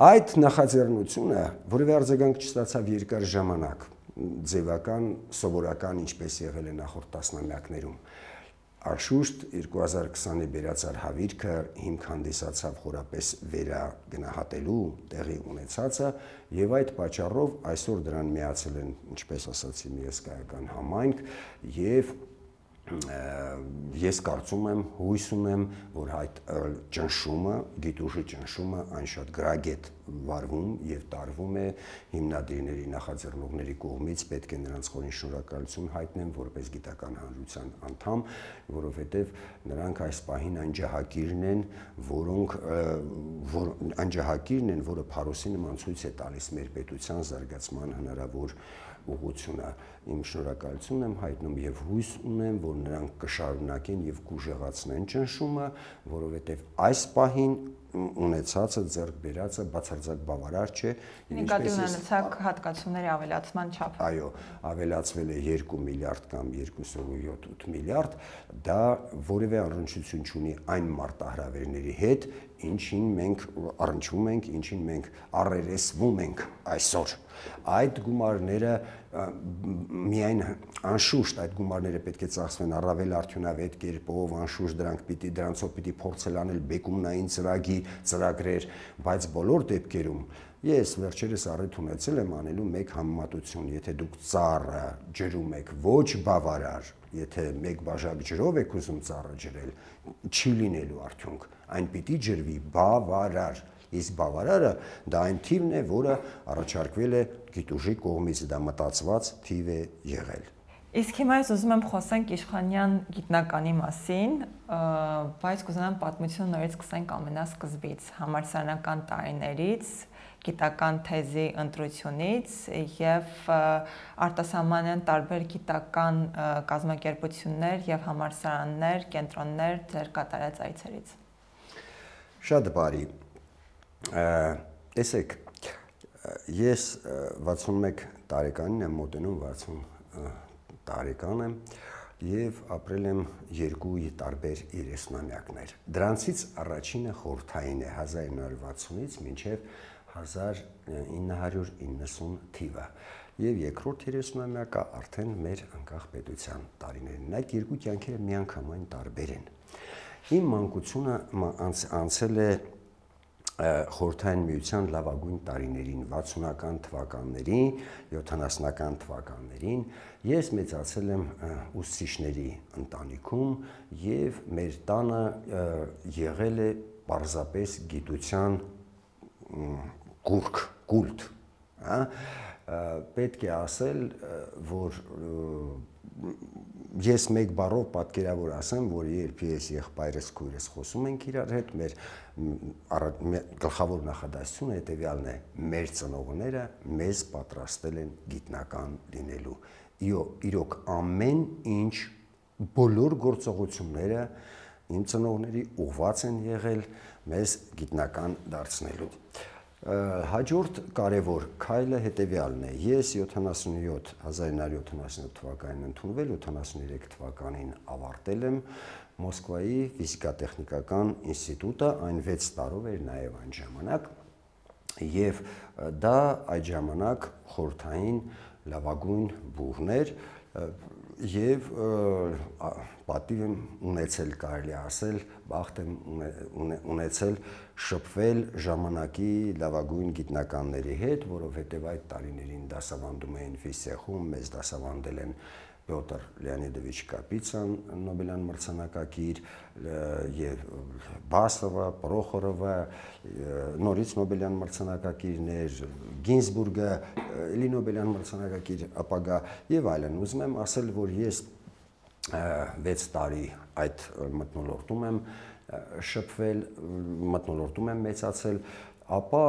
այդ նախաձեռնությունը որևէ արձագանք չստացավ երկար ժամանակ, ձևական, սովորական, ինչպես եղել է նախորդ տասնամյակներում։ Անշուշտ երկու հազար քսանի բերածար հավիրքը հիմք հանդիսացավ խորապես վերագնահատելու տեղի ունեցածը եւ այդ պատճառով այսօր դրան միացել են, ինչպես ասացի, մի հսկայական համայնք եւ ես կարծում եմ, հույս ունեմ, որ այդ ճնշումը, գիտուժի ճնշումը այն շատ գրագետ վարվում եւ տարվում է հիմնադիրների, նախաձեռնողների կողմից, պետք է նրանց խորին շնորհակալություն հայտնեմ որպես գիտական հանրության անդամ, որովհետեւ նրանք այս պահին այն ջահակիրն են, որոնք որ այն ջահակիրն են, որը փարոսի նման ցույց է տալիս մեր պետության զարգացման հնարավոր ուղղությունը։ Իմ շնորհակալությունն եմ հայտնում եւ հույս ունեմ, որ նրանք կշարունակեն եւ կուժեղացնեն ճնշումը, որովհետեւ այս պահին ունեցածը ձեռք բերածը բացարձակ բավարար չէ։ Նկատի ունեցած հատկացումների ավելացման չափը։ Այո, ավելացվել է երկու միլիարդ կամ երկու յոթ միլիարդ, դա որևէ առնչություն չունի այն մարտահրավերների հետ, ինչին մենք առնչվում ենք, ինչին մենք առերեսվում ենք այսօր։ Այդ գումարները միայն անշուշտ այդ գումարները պետք է ծախսվեն առավել արդյունավետ կերպով, անշուշտ դրանք պիտի դրանցով պիտի փորձել անել բեկումնային ծրագիր, ծրագրեր, բայց բոլոր դեպքերում ես վերջերս առիթ ունեցել եմ անելու մեկ համեմատություն, եթե դուք ծառը ջրում եք ոչ բավարար, եթե մեկ բաժակ ջրով եք ուզում ծառը ջրել, չի լինելու արդյունք, այն պիտի ջրվի բավարար, իսկ բավարարը դա այն թիվն է, որը առաջարկվել է գիտուժի կողմից, դա մտածված թիվ է եղել։ Իսկ հիմա ես ուզում եմ խոսենք Իշխանյան գիտնականի մասին, բայց կուզենամ պատմություն նորից սկսենք ամենասկզբից, համալսարանական տարիներից, գիտական թեզի ընտրությունից եւ արտասահմանյան տարբեր գիտական կազմակերպություններ եւ համալսարաններ, կենտրոններ ձեր կատարած այցերից։ Շատ բարի։ Տեսեք, ես վաթսունմեկ տարեկանին եմ մոտենում, վաթսուն տարեկան եմ եւ ապրել եմ երկու տարբեր երեսնամյակներ։ Դրանցից առաջինը խորհրդային է հազար ինը հարյուր վաթսունից մինչեւ հազար ինը հարյուր իննսուն թիվը եւ երկրորդ երեսնամյակը արդեն մեր անկախ պետության տարիներն։ Այդ երկու կյանքերը միանգամայն տարբեր են։ Իմ մանկությունը անցել է խորհրդային միության լավագույն տարիներին, վաթսունական թվականներին, յոթանասունական թվականներին, ես մեծացել եմ ուսուցիչների ընտանիքում եւ մեր տանը եղել է պարզապես գիտության գուրք, կուլտ, հա, պետք է ասել, որ ես մեկ բառով պատկերավոր ասեմ, որ երբ ես եղբայրս քույրս խոսում ենք իրար հետ, մեր գլխավոր նախադասությունը հետևյալն է. մեր ծնողները մեզ պատրաստել են գիտնական լինելու։ Իրոք ամեն ինչ, բոլոր գործողությունները իմ ծնողների ուղղված են եղել մեզ գիտնական դարձնելու։ Հաջորդ կարևոր քայլը հետևյալն է. ես հազար ինը հարյուր յոթանասունյոթ թվականին ընդունվել, յոթանասուներեք թվականին ավարտել եմ Մոսկվայի ֆիզիկա-տեխնիկական ինստիտուտը, այն վեց տարով էր նաև այն ժամանակ, եւ դա այդ ժամանակ խորհրդային լավագույն բուհն էր, եւ պատիվ եմ ունեցել, կարելի ասել, բախտ եմ ունեցել շփվել ժամանակի լավագույն գիտնականների հետ, որովհետեւ այդ տարիներին դասավանդում էին ֆիզիախում, մեզ դասավանդել են Պյոտր Լեոնիդովիչ Կապիցան, Նոբելյան մրցանակակիր, եւ Բասովը, Պրոխորովը, նորից Նոբելյան մրցանակակիրներ, Գինզբուրգը, էլի Նոբելյան մրցանակակիր ապագա եւ այլն։ Ուզում եմ ասել, որ ես վեց տարի այդ մթնոլորտում եմ շփվել, մթնոլորտում եմ մեծացել, ապա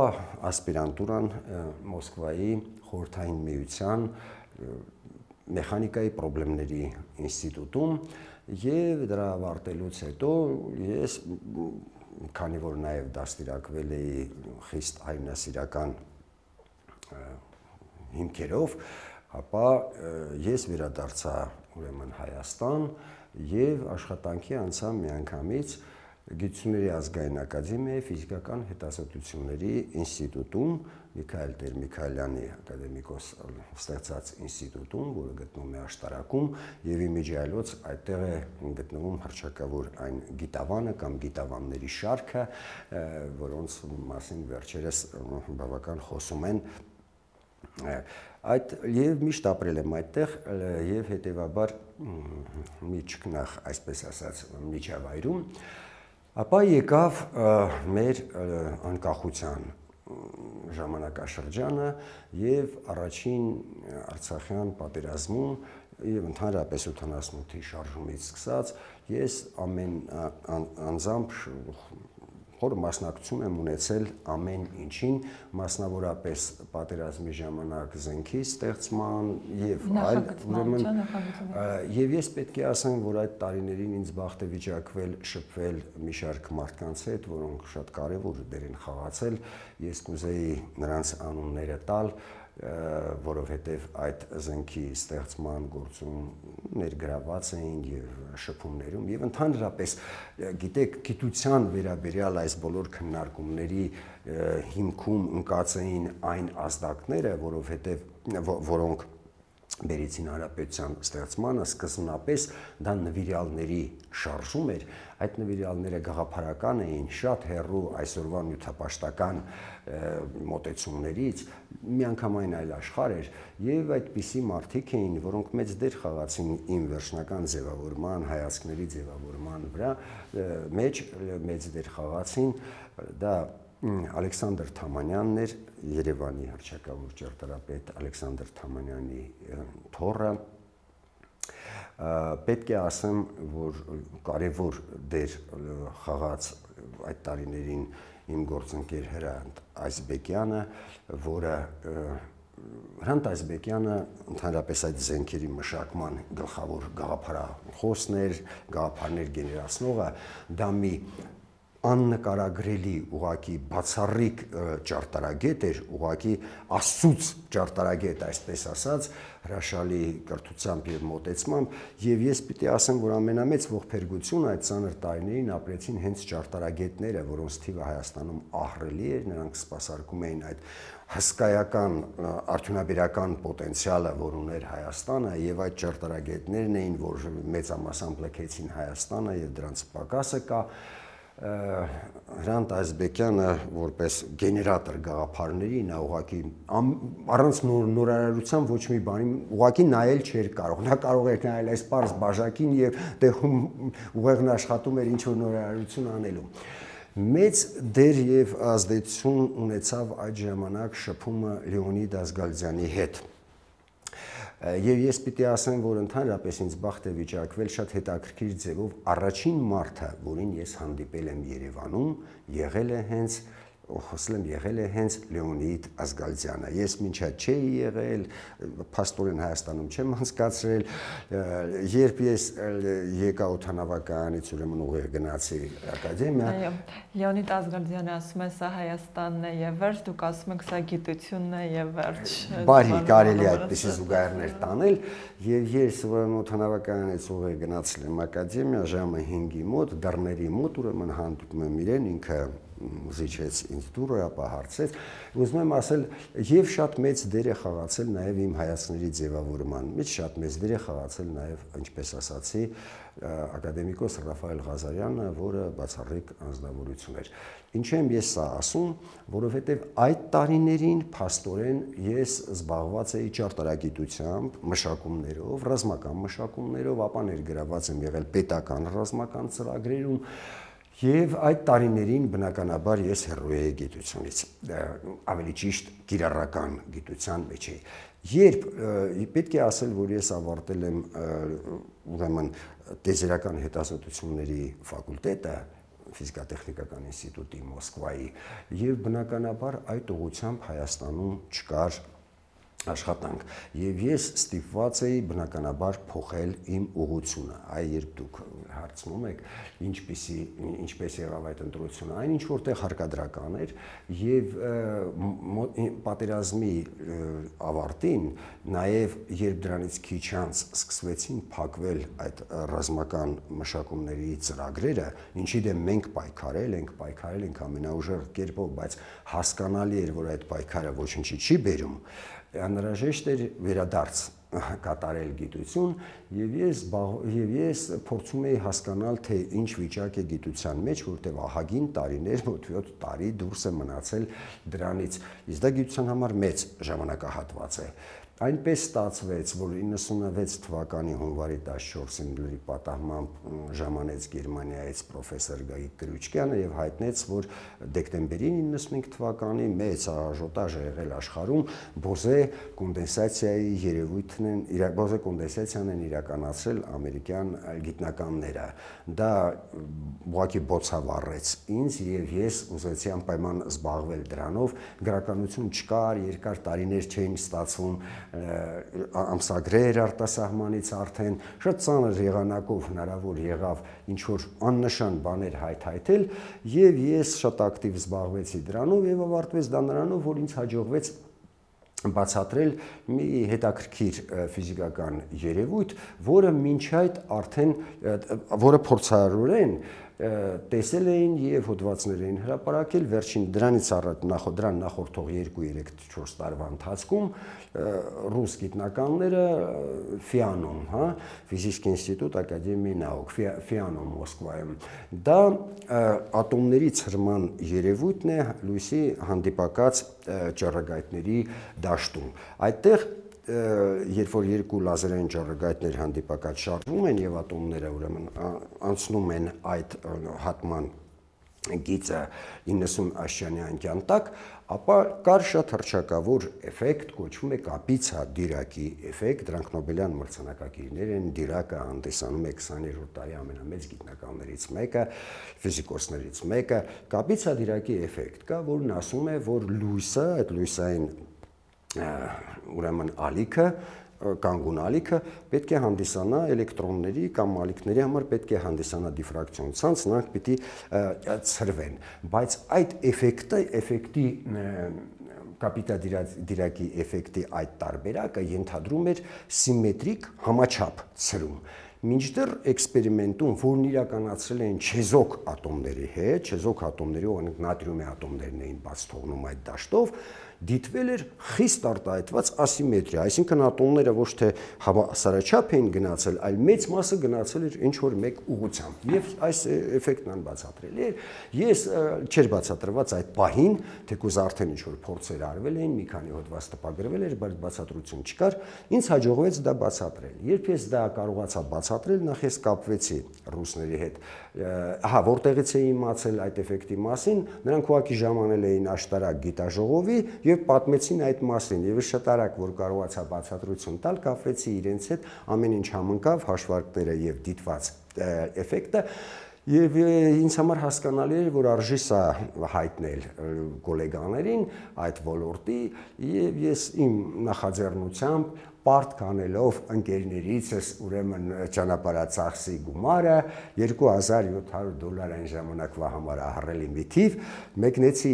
ասպիրանտուրան Մոսկվայի խորհրդային միության մեխանիկայի խնդիրների ինստիտուտում եւ դրա ավարտելուց հետո ես, քանի որ նաեւ դաստիարակվել էի խիստ հայրենասիրական հիմքերով, ապա ես վերադարձա ուրեմն Հայաստան եւ աշխատանքի անցա միանգամից Գիտությունների ազգային ակադեմիայի ֆիզիկական հետազոտությունների ինստիտուտում, Միքայել Տեր-Միքայելյանի ակադեմիկոս ստեղծած ինստիտուտում, որը գտնվում է Աշտարակում, եւ իմիջիայլոց այդտեղ է գտնվում հռչակավոր այն գիտավանը կամ գիտավանների շարքը, որոնց մասին վերջերս բավական խոսում են։ Այդ եւ միշտ ապրել եմ այդտեղ եւ հետեւաբար մի ճկնախ, այսպես ասած, միջավայրում, ապա եկավ մեր անկախության ժամանակաշրջանը եւ առաջին Արցախյան պատերազմում եւ ընդհանրապես ութանասունութի շարժումից սկսած ես ամեն անձամբ խոր մասնակցություն եմ ունեցել ամեն ինչին, մասնավորապես պատերազմի ժամանակ զենքի ստեղծման եւ այլ, ուրեմն եւ ես պետք է ասեմ, որ այդ տարիներին ինձ բախտ է վիճակվել շփվել մի շարք մարդկանց հետ, որոնք շատ կարեւոր դեր են խաղացել, ես կուզեի նրանց անունները տալ, որովհետև այդ զենքի ստեղծման գործում ներգրաված էին եւ շփումներում եւ ընդհանրապես գիտեք գիտության վերաբերյալ այս բոլոր քննարկումների հիմքում ընկած էին այն ազդակները, որովհետև որոնք բերեցին հանրապետության ստեղծմանը, սկզբնապես դա նվիրյալների շարժում էր, այդ նվիրյալները գաղափարական էին, շատ հեռու այսօրվա նյութապաշտական մոտեցումներից, միանգամայն այլ աշխարհ էր եւ այդպիսի մարդիկ էին, որոնք մեծ դեր խաղացին իմ վերջնական ձևավորման, հայացքների ձևավորման վրա, մեջ մեծ դեր խաղացին, դա Ալեքսանդր Թամանյանն էր, Երևանի հռչակավոր ճարտարապետ Ալեքսանդր Թամանյանի թոռը, պետք է ասեմ, որ կարևոր դեր խաղաց այդ տարիներին իմ գործընկեր Հրանտ Այսբեկյանը, որը Հրանտ Այսբեկյանը ընդհանրապես այդ զենքերի մշակման գլխավոր գաղափարախոսն էր, գաղափարներ գեներացնողը, դա մի աննկարագրելի ուղակի բացառիկ ճարտարագետ էր, ուղակի աստծուց ճարտարագետ, այսպես ասած, հրաշալի կրթությամբ եւ մոտեցմամբ, եւ ես պիտի ասեմ, որ ամենամեծ ողբերգությունը այդ ծանր տարիներին ապրեցին հենց ճարտարագետները, որոնց թիվը Հայաստանում ահռելի էր, նրանք սպասարկում էին այդ հսկայական արդյունաբերական պոտենցիալը, որ ուներ Հայաստանը, եւ այդ ճարտարագետներն էին, որ մեծամասամբ լքեցին Հայաստանը եւ դրանց պակասը կա։ Հրանտ Այսբեկյանը որպես գեներատոր գաղափարների նա ուղղակի առանց նորարարության ոչ մի բանի ուղղակի նայել չէր կարող, նա կարող էր նայել այս պարզ բաժակին եւ տեղում ուղեղն աշխատում էր ինչ որ նորարարություն անելու։ Մեծ դեր եւ ազդեցություն ունեցավ այդ ժամանակ շփումը Լեոնիդ Ազգալյանի հետ։ Եվ ես պիտի ասեմ, որ ընդհանրապես ինձ բախտ է վիճակվել շատ հետաքրքիր ձևով առաջին մարդը, որին ես հանդիպել եմ Երևանում, եղել է հենց խոսել եմ եղել է հենց Լեոնիդ Ազգալյանը։ Ես մինչ այդ չէի եղել, փաստորեն Հայաստանում չեմ անցկացրել, երբ ես եկա օդանավականից ուրեմն ուղիղ գնացի ակադեմիա։ Այո, Լեոնիդ Ազգալյանը ասում է սա Հայաստանն է եւ վերջ, դուք ասում եք սա գիտությունն է եւ վերջ։ Բարի, կարելի է այդպիսի զուգահեռներ տանել, եւ ես ուրեմն օդանավականից ուղիղ գնացել եմ ակադեմիա ժամը հինգի մոտ, դռների մոտ ուրեմն հանդիպում եմ իրեն, ինքը զիջեց ինձ դուրը, ապա հարցեց, ուզում եմ ասել, եւ շատ մեծ դեր է խաղացել նաեւ իմ հայացքների ձևավորման մեջ, շատ մեծ դեր է խաղացել նաեւ, ինչպես ասացի, ակադեմիկոս Ռաֆայել Ղազարյանը, որը բացառիկ անձնավորություն էր։ Ինչ եմ ես սա ասում, որովհետեւ այդ տարիներին փաստորեն ես զբաղված էի ճարտարագիտությամբ, մշակումներով, ռազմական մշակումներով, ապա ներգրաված եմ եղել պետական ռազմական ծրագրերում։ Եվ այդ տարիներին բնականաբար ես հեռու էի գիտությունից, ավելի ճիշտ կիրառական գիտության մեջ էի։ Երբ պետք է ասել, որ ես ավարտել եմ ուրեմն տեզերական հետազոտությունների ֆակուլտետը ֆիզիկա-տեխնիկական ինստիտուտի Մոսկվայի, եւ բնականաբար այդ ուղղությամբ Հայաստանում չկար աշխատանք, եւ ես ստիպված էի բնականաբար փոխել իմ ուղղությունը։ Այ երբ դուք հարցնում եք, ինչպեսի ինչպես եղավ այդ ընտրությունը, այն ինչ որտեղ հարկադրական էր, եւ պատերազմի ավարտին, նաեւ երբ դրանից քիչ անց սկսվեցին փակվել այդ ռազմական մշակումների ծրագրերը, ինչի դեմ մենք պայքարել ենք, պայքարել ենք ամենաուժեղ կերպով, բայց հասկանալի էր, որ այդ պայքարը ոչինչի չի բերում, անհրաժեշտ էր վերադարձ կատարել գիտություն, եւ ես եւ ես փորձում էի հասկանալ, թե ինչ վիճակ է գիտության մեջ, որտեղ ահագին տարիներ, մոտ յոթ տարի դուրս է մնացել դրանից։ Իսկ դա գիտության համար մեծ ժամանակահատված է։ Այնպես ստացվեց, որ իննսունվեց թվականի հունվարի տասնչորսին լրի պատահմամբ ժամանեց Գերմանիայից պրոֆեսոր Գագիկ Կրուչկյանը եւ հայտնեց, որ դեկտեմբերին իննսունհինգ թվականի մեծ աժոտաժ է եղել աշխարհում բոզե կոնդենսացիայի երևույթն են, բոզե կոնդենսացիան են իրականացրել ամերիկյան գիտնականները։ Դա ուղղակի բոցավառեց ինձ եւ ես ուզեցի անպայման զբաղվել դրանով, գրականություն չկար, երկար տարիներ չէին ստացվում ամսագրեր արտասահմանից արդեն, շատ ծանր եղանակով հնարավոր եղավ ինչ-որ աննշան բաներ հայթայթել եւ ես շատ ակտիվ զբաղվեցի դրանով եւ ավարտվեց դա նրանով, որ ինձ հաջողվեց բացատրել մի հետաքրքիր ֆիզիկական երևույթ, որը մինչ այդ արդեն, որը փորձարարորեն տեսել էին եւ հոդվածներ էին հրապարակել վերջին դրանից առաջ նախ դրան նախորդող երկու երեք չորս տարվա ընթացքում ռուս գիտնականները Ֆիանում, հա, Ֆիզիկայի ինստիտուտ Ակադեմիայի նауկ, Ֆիանում Մոսկվայում, դա ատոմների ցրման երևույթն է լույսի հանդիպակաց ճառագայթների դաշտում։ Այդտեղ երբ որ երկու լազերային ճառագայթներ հանդիպակաց շարժվում են եւ ատոմները ուրեմն անցնում են այդ հատման գիծը իննսուն աշճանի անկյան տակ, ապա կար շատ հռչակավոր էֆեկտ, կոչվում է կապիցա դիրակի էֆեկտ, դրանք նոբելյան մրցանակակիրներ են, դիրակը հանդիսանում է քսաներորդ դարի ամենամեծ գիտնականներից մեկը, ֆիզիկոսներից մեկը, կապիցա դիրակի էֆեկտ կա, որն ասում է, որ լույսը, այդ լույսային ուրեմն ալիքը, կանգուն ալիքը պետք է հանդիսանա էլեկտրոնների կամ ալիքների համար պետք է հանդիսանա դիֆրակցիոն ցանց, նրանք պիտի ցրվեն, բայց այդ էֆեկտը, էֆեկտի կապիտա դիրակի էֆեկտի այդ տարբերակը ենթադրում էր սիմետրիկ համաչափ ցրում։ Մինչդեռ էքսպերիմենտում, որն իրականացրել են չեզոք ատոմների հետ, չեզոք ատոմների, օրինակ նատրիումի ատոմներն էին բաց թողնում այդ դաշտով, դիտվել էր խիստ արտահայտված ասիմետրիա, այսինքն ատոմները ոչ թե հավասարաչափ էին գնացել, այլ մեծ մասը գնացել էր ինչ որ մեկ ուղղությամբ։ Եվ այս էֆեկտն անբացատրելի էր։ Ես չէր բացատրված այդ պահին, թեկուզ արդեն ինչ որ փորձեր արվել էին, մի քանի հոդված տպագրվել էր, բայց բացատրություն չկար, ինձ հաջողվեց դա բացատրել։ Երբ ես դա կարողացա բացատրել, նախ ես կապվեցի ռուսների հետ, ահա որտեղից էի իմացել այդ էֆեկտի մասին, նրանք ուղղակի ժամանել էին աշտարակ գիտաժողովի եւ պատմեցին այդ մասին, եւ շատ արագ որ կարողացա բացատրություն տալ, կապվեցի իրենց հետ, ամեն ինչ համընկավ, հաշվարկները եւ դիտված էֆեկտը, եւ ինձ համար հասկանալի էր, որ արժի սա հայտնել գոլեգաներին այդ ոլորտի, եւ ես իմ նախաձեռնությամբ պարտ կանելով ընկերներիցս ուրեմն ճանապարհածախսի գումարը երկու հազար յոթ հարյուր դոլար այն ժամանակվա համար ահռելի մի թիվ մեկնեցի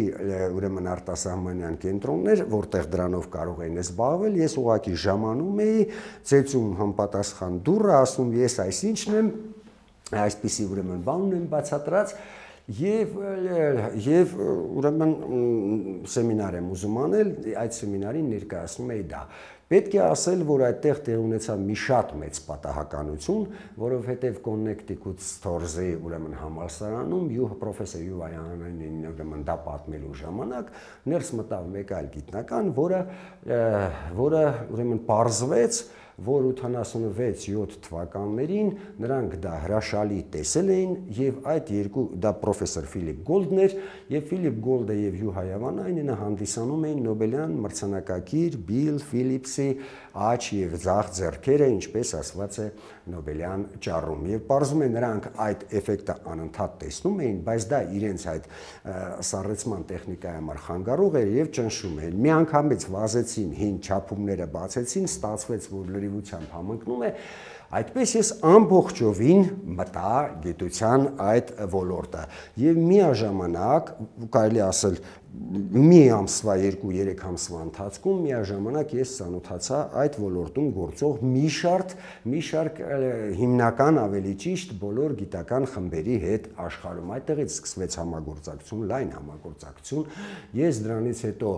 ուրեմն արտասահմանյան կենտրոններ, որտեղ դրանով կարող էին զբաղվել, ես ուղղակի ժամանում էի, ծեծում համապատասխան դուռը, ասում ես այսինչն եմ, այսպիսի ուրեմն բան ունեմ բացատրած Եվ եւ ուրեմն սեմինար եմ ուզում անել, այդ սեմինարին ներկայացնում էի դա։ Պետք է ասել, որ այդտեղ տեղ ունեցավ մի շատ մեծ պատահականություն, որովհետև Connecticut Stores-ի ուրեմն համալսարանում յուղ պրոֆեսոր Յուվայանին ուրեմն դա պատմելու ժամանակ ներս մտավ մեկ այլ գիտնական, որը որը ուրեմն պարզվեց, որ ութանասունվեց յոթ թվականներին նրանք դա հրաշալի տեսել էին եւ այդ երկու դա պրոֆեսոր Ֆիլիպ Գոլդն էր եւ Ֆիլիպ Գոլդը եւ Յուհա Յավանայինը հանդիսանում էին Նոբելյան մրցանակակիր Բիլ Ֆիլիպսի աջ եւ ձախ ձեռքերը, ինչպես ասված է Նոբելյան ճառում եւ պարզում է նրանք այդ էֆեկտը անընդհատ տեսնում էին, բայց դա իրենց այդ սառեցման տեխնիկայի համար խանգարող էր եւ ճնշում էին։ Միանգամից վազեցին, հին չափումները բացեցին, ստացվեց, որ լրիվությամբ համընկնում է, այդպես ես ամբողջովին մտա գիտության այդ ոլորտը եւ միաժամանակ կարելի ասել մի ամսվա երկու-երեք ամսվա ընթացքում միաժամանակ ես ծանոթացա այդ ոլորտում գործող մի շարք մի շարք հիմնական ավելի ճիշտ բոլոր գիտական խմբերի հետ աշխարհում այդտեղից սկսվեց համագործակցություն, լայն համագործակցություն, ես դրանից հետո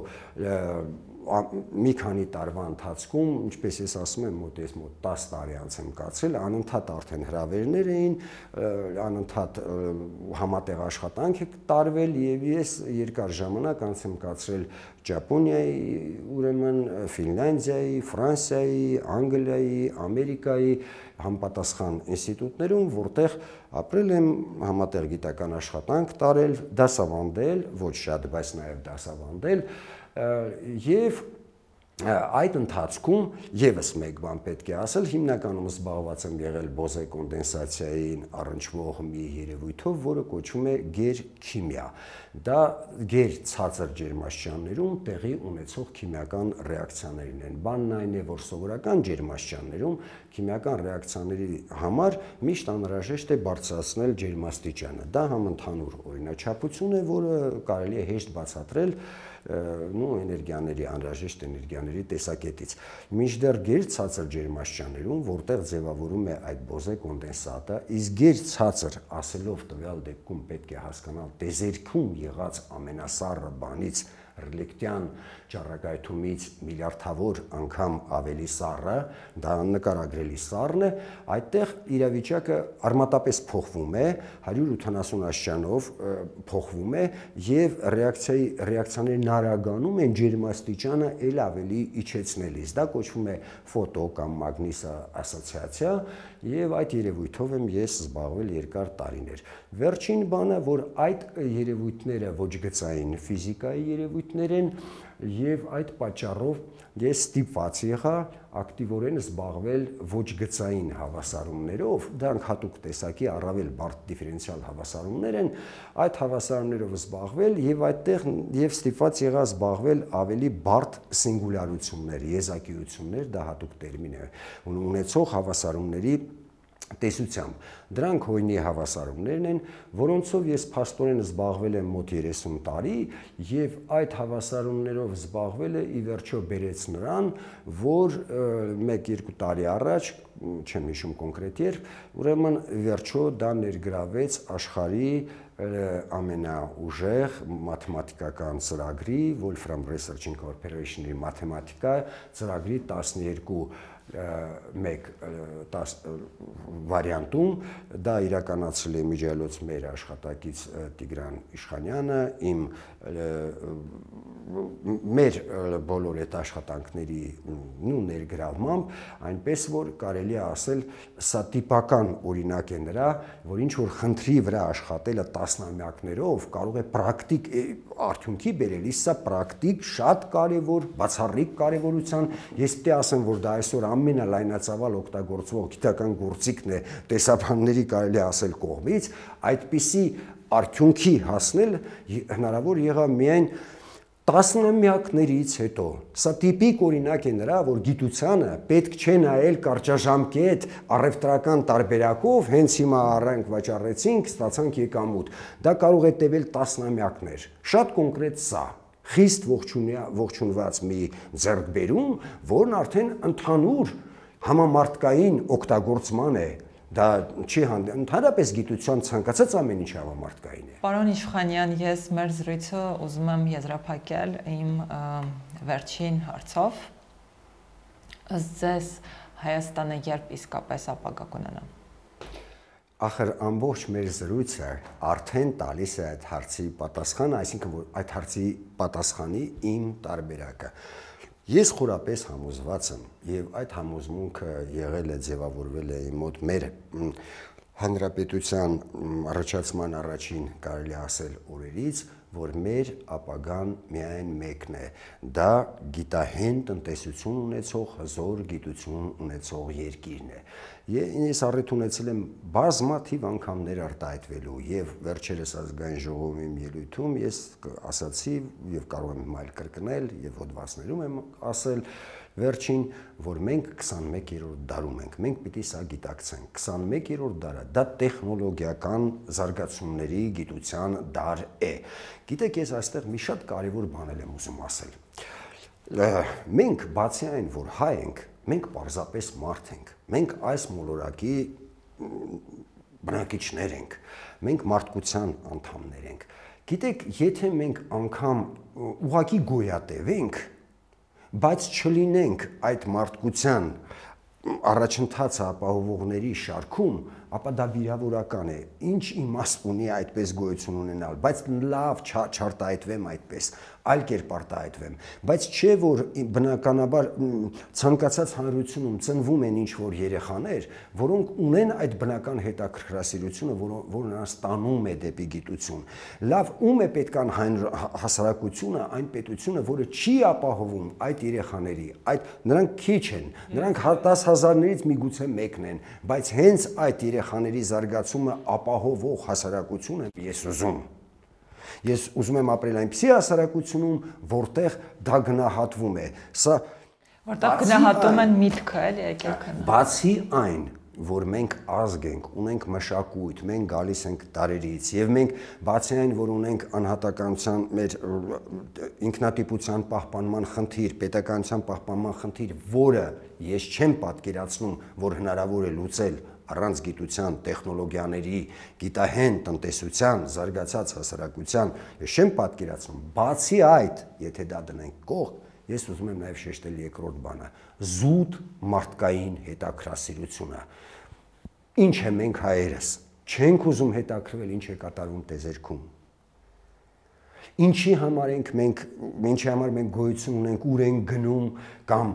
մի քանի տարվա ընթացքում, ինչպես ես ասում եմ, մոտ ես մոտ տասը տարի անց եմ կացրել, անընդհատ արդեն հրավերներ էին, անընդհատ համատեղ աշխատանք է տարվել եւ ես երկար ժամանակ անց եմ կացրել Ճապոնիայի, ուրեմն Ֆինլանդիայի, Ֆրանսիայի, Անգլիայի, Ամերիկայի համապատասխան ինստիտուտներում, որտեղ ապրել եմ, համատեղ գիտական աշխատանք տարել, դասավանդել, ոչ շատ, բայց նաեւ դասավանդել եւ այդ ընթացքում եւս մեկ բան պետք է ասել, հիմնականում զբաղված եմ եղել բոզե կոնդենսացիային առնչվող մի երևույթով, որը կոչվում է գերքիմիա։ Դա գեր ցածր ջերմաստիճաններում տեղի ունեցող քիմիական ռեակցիաներն են։ Բանն այն է, որ սովորական ջերմաստիճաններում քիմիական ռեակցիաների համար միշտ անհրաժեշտ է բարձրացնել ջերմաստիճանը։ Դա համընդհանուր օրինաչափություն է, որը կարելի է հեշտ բացատրել նո էներգիաների անհրաժեշտ էներգիաների տեսակետից։ Մինչդեռ գեր ցածր ջերմաստիճաններում, որտեղ ձևավորում է այդ բոզե կոնդենսատը, իսկ գեր ցածր ասելով տվյալ դեպքում պետք է հասկանալ տեզերքում եղած ամենասառը բանից ռելիկտյան ճառագայթումից միլիարդավոր անգամ ավելի սառը, դա նկարագրելի սառն է, այդտեղ իրավիճակը արմատապես փոխվում է, հարյուր ութանասուն աստիճանով փոխվում է եւ ռեակցիայի ռեակցիաներն արագանում են ջերմաստիճանը ել ավելի իջեցնելիս։ Դա կոչվում է ֆոտո կամ մագնիս ասոցիացիա եւ այդ երևույթով եմ ես զբաղվել երկար տարիներ։ Վերջին բանը, որ այդ երևույթները ոչ գծային ֆիզիկայի երևույթներ են եւ այդ պատճառով ես ստիպված եղա ակտիվորեն զբաղվել ոչ գծային հավասարումներով, դրանք հատուկ տեսակի առավել բարդ դիֆերենցիալ հավասարումներ են, այդ հավասարումներով զբաղվել եւ այդտեղ եւ ստիպված եղա զբաղվել ավելի բարդ սինգուլյարություններ, եզակիություններ, դա հատուկ տերմին է, ունեցող հավասարումների տեսությամբ։ Դրանք հույնի հավասարումներն են, որոնցով ես փաստորեն զբաղվել եմ մոտ երեսուն տարի եւ այդ հավասարումներով զբաղվելը ի վերջո բերեց նրան, որ մեկ-երկու տարի առաջ, չեմ հիշում կոնկրետ երբ, ուրեմն վերջո դա ներգրավեց աշխարհի ամենաուժեղ մաթեմատիկական ծրագրի Wolfram Research Incorporation-ի մաթեմատիկա ծրագրի տասներկու մեկ վարիանտում դա իրականացրել է միջայլոց մեր աշխատակից Տիգրան Իշխանյանը, իմ մեր բոլոր այդ աշխատանքների նու ներգրավմամբ, այնպես որ կարելի է ասել սա տիպական օրինակ է նրա, որ ինչ որ խնդրի վրա աշխատելը տասնամյակներով կարող է պրակտիկ արդյունքի բերել, իսկ սա պրակտիկ շատ կարևոր, բացառիկ կարևորության, ես պետք է ասեմ, որ դա այսօր ամենալայնածավալ օգտագործվող գիտական գործիքն է տեսաբանների կարելի ասել կողմից, այդպիսի արդյունքի հասնել հնարավոր եղավ միայն տասնամյակներից հետո։ Սա տիպիկ օրինակ է նրա, որ գիտությանը պետք չէ նայել կարճաժամկետ առևտրական տարբերակով, հենց հիմա առանք վաճառեցինք, ստացանք եկամուտ։ Դա կարող է տևել տասնամյակներ։ Շատ կոնկրետ սա խիստ ողջունված մի ձեռքբերում, որն արդեն ընդհանուր համամարտկային օգտագործման է, դա չի հանդիպում, ընդհանրապես գիտության ցանկացած ամեն ինչ համամարտկային է։ Պարոն Իշխանյան, ես մեր զրույցը ուզում եմ եզրափակել իմ վերջին հարցով։ Ըստ ձեզ Հայաստանը երբ իսկապես ապագա կունենա։ Ախր ամբողջ մեր զրույցը արդեն տալիս է այդ հարցի պատասխանը, այսինքն որ այդ հարցի պատասխանի իմ տարբերակը։ Ես խորապես համոզված եմ եւ այդ համոզմունքը եղել է ձևավորվել է իմ մոտ մեր հանրապետության առաջացման առաջին կարելի ասել օրերից, որ մեր ապագան միայն մեկն է, դա գիտահեն տնտեսություն ունեցող, հզոր գիտություն ունեցող երկիրն է։ Ես առիթ ունեցել եմ բազմաթիվ անգամ ներարտահայտվելու եւ վերջերս ազգային ժողովի ելույթում ես ասացի եւ կարող եմ այլ կրկնել եւ հոդվածներում եմ ասել վերջին, որ մենք քսանմեկերորդ դարում ենք, մենք պիտի սա գիտակցենք, քսանմեկերորդ դարը, դա տեխնոլոգիական զարգացումների գիտության դար է։ Գիտեք, ես այստեղ մի շատ կարևոր բան եմ ուզում ասել։ Մենք բացի այն, որ հայ ենք, մենք պարզապես մարդ ենք, մենք այս մոլորակի բնակիչներ ենք, մենք մարդկության անդամներ ենք։ Գիտեք, եթե մենք անգամ ուղղակի գոյատևենք, բայց չլինենք այդ մարդկության առաջընթացը ապահովողների շարքում, ապա դա վիրավորական է։ Ինչ իմաստ ունի այդպես գոյություն ունենալ, բայց լավ չարտահայտվեմ այդպես, այլ կերպ արտահայտվեմ, բայց չէ որ բնականաբար ցանկացած հանրությունում ծնվում են ինչ որ երեխաներ, որոնք ունեն այդ բնական հետաքրքրասիրությունը, որը նրանց տանում է դեպի գիտություն։ Լավ, ում է պետքան հասարակությունը, այն պետությունը, որը չի ապահովում այդ երեխաների, այդ նրանք քիչ են, նրանք դաս հազարներից միգուցե մեկն են, բայց հենց այդ երեխաների զարգացումը ապահովող հասարակություն եմ ես ուզում։ Ես ուզում եմ ապրել այնպիսի հասարակությունում, որտեղ դա գնահատվում է։ Սա որտեղ գնահատում են միտքը, էլի եկել քնա։ Բացի այն, որ մենք ազգ ենք, ունենք մշակույթ, մենք գալիս ենք տարերից եւ մենք բացի այն, որ ունենք անհատականության մեր ինքնատիպության պահպանման խնդիր, պետականության պահպանման խնդիր, որը ես չեմ պատկերացնում, որ հնարավոր է լուծել առանց գիտության, տեխնոլոգիաների, գիտահեն տնտեսության, զարգացած հասարակության, ես չեմ պատկերացնում, բացի այդ, եթե դա դնենք կողմ, ես ուզում եմ նաև շեշտել երկրորդ բանը, զուտ մարդկային հետաքրքրասիրությունը։ Ինչ է մենք հայերս, չենք ուզում հետաքրքրվել, ինչ է կատարվում տեզերքում։ Ինչի համար ենք մենք, ինչի համար մենք գոյություն ունենք, ուր ենք գնում, կամ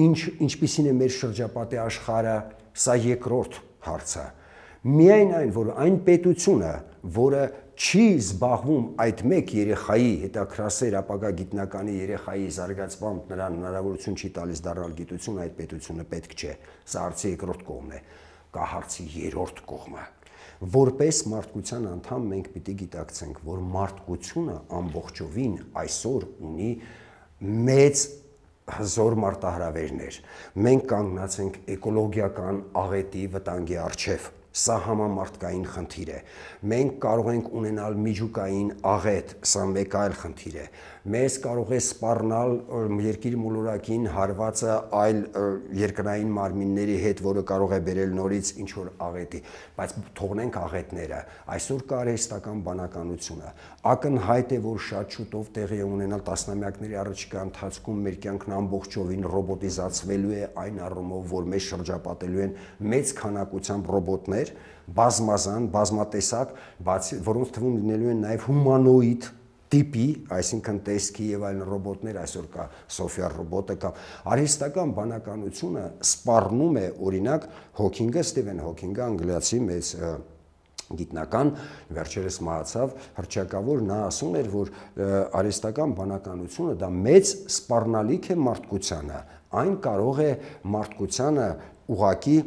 ինչ ինչպիսին է մեր շրջապատի աշխարհը, սա երկրորդ հարցը։ Միայն այն, որ այն պետությունը, որը չի զբաղվում այդ մեկ երեխայի հետաքրքրասեր ապագա գիտնականի երեխայի զարգացմամբ նրան հնարավորություն չի տալիս դառնալ գիտություն, այդ պետությունը պետք չէ։ Սա հարցի երկրորդ կողմն է, կա հարցի երրորդ կողմը։ Որպես մարդկության անդամ մենք պիտի գիտակցենք, որ մարդկությունը ամբողջովին այսօր ունի մեծ հզոր մարտահրավերներ։ Մենք կանգնած ենք էկոլոգիական աղետի վտանգի առջև։ Սա համամարտկային խնդիր է։ Մենք կարող ենք ունենալ միջուկային աղետ, սա մեկ այլ խնդիր է։ Մեզ կարող է սպառնալ երկիր մոլորակին հարվածը այլ երկրային մարմինների հետ, որը կարող է բերել նորից ինչ որ աղետի, բայց թողնենք աղետները։ Այսօր կա արհեստական բանականությունը։ Ակնհայտ է, որ շատ շուտով տեղի է ունենալ տասնամյակների առաջիկա ընթացքում մեր կյանքն ամբողջովին ռոբոտիզացվելու է այն առումով, որ մեզ շրջապատելու են մեծ քանակությամբ ռոբոտներ, բազմազան, բազմատեսակ, բացի որոնց թվում լինելու են նաև հումանոիդ տիպի, այսինքն տեսքի եւ այլն ռոբոտներ, այսօր կա Սոֆիա ռոբոտը կա։ Արհեստական բանականությունը սպառնում է, օրինակ, Հոքինգը, Ստիվեն Հոքինգը, անգլիացի մեծ գիտնական, վերջերս մահացավ, հռչակավոր, նա ասում էր, որ արհեստական բանականությունը դա մեծ սպառնալիք է մարդկությանը, այն կարող է մարդկությանը ուղղակի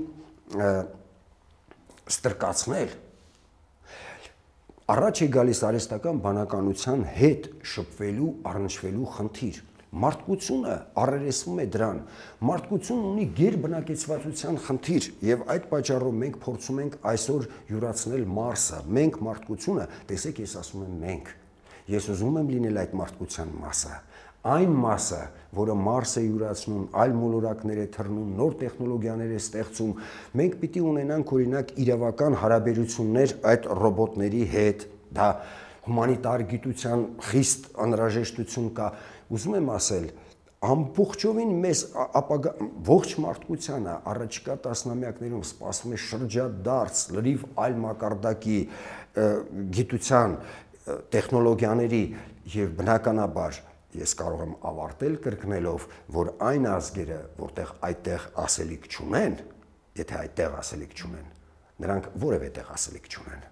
ստրկացնել։ Առաջ է գալիս արհեստական բանականության հետ շփվելու, առնչվելու խնդիր։ Մարդկությունը առերեսվում է դրան։ Մարդկությունն ունի գերբնակեցվածության խնդիր եւ այդ պատճառով մենք փորձում ենք այսօր յուրացնել Մարսը։ Մենք մարդկությունը, տեսեք, ես ասում եմ մենք։ Ես ուզում եմ լինել այդ մարդկության մասը։ Այն մասը, որը Մարսը յուրացնում, այլ մոլորակներ է թռնում, նոր տեխնոլոգիաներ է ստեղծում, մենք պիտի ունենանք օրինակ իրավական հարաբերություններ այդ ռոբոտների հետ, դա հումանիտար գիտության խիստ անհրաժեշտություն կա։ Ուզում եմ ասել, ամբողջովին մեզ ապագա ողջ մարդկությանը առաջիկա տասնամյակներում սպասվում է շրջադարձ լրիվ այլ մակարդակի գիտության, տեխնոլոգիաների եւ բնականաբար ես կարող եմ ավարտել կրկնելով, որ այն ազգերը, որտեղ այդտեղ ասելիք չունեն, եթե այդտեղ ասելիք չունեն, նրանք որևէ տեղ ասելիք չունեն։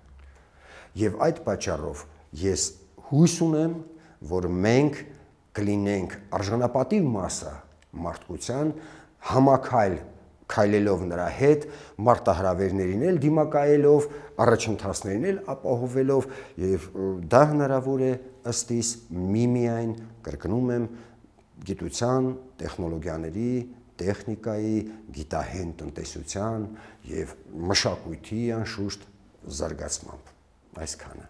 Եվ այդ պատճառով ես հույս ունեմ, որ մենք կլինենք արժանապատիվ մասը մարդկության, համաքայլ քայլելով նրա հետ, մարտահրավերներին էլ դիմակայելով, առաջընթացներին էլ ապահովելով, եւ դա հնարավոր է ըստ իս միմիայն, կրկնում եմ, գիտության, տեխնոլոգիաների, տեխնիկայի, գիտահեն տնտեսության եւ մշակույթի անշուշտ զարգացմամբ։ Այսքանը։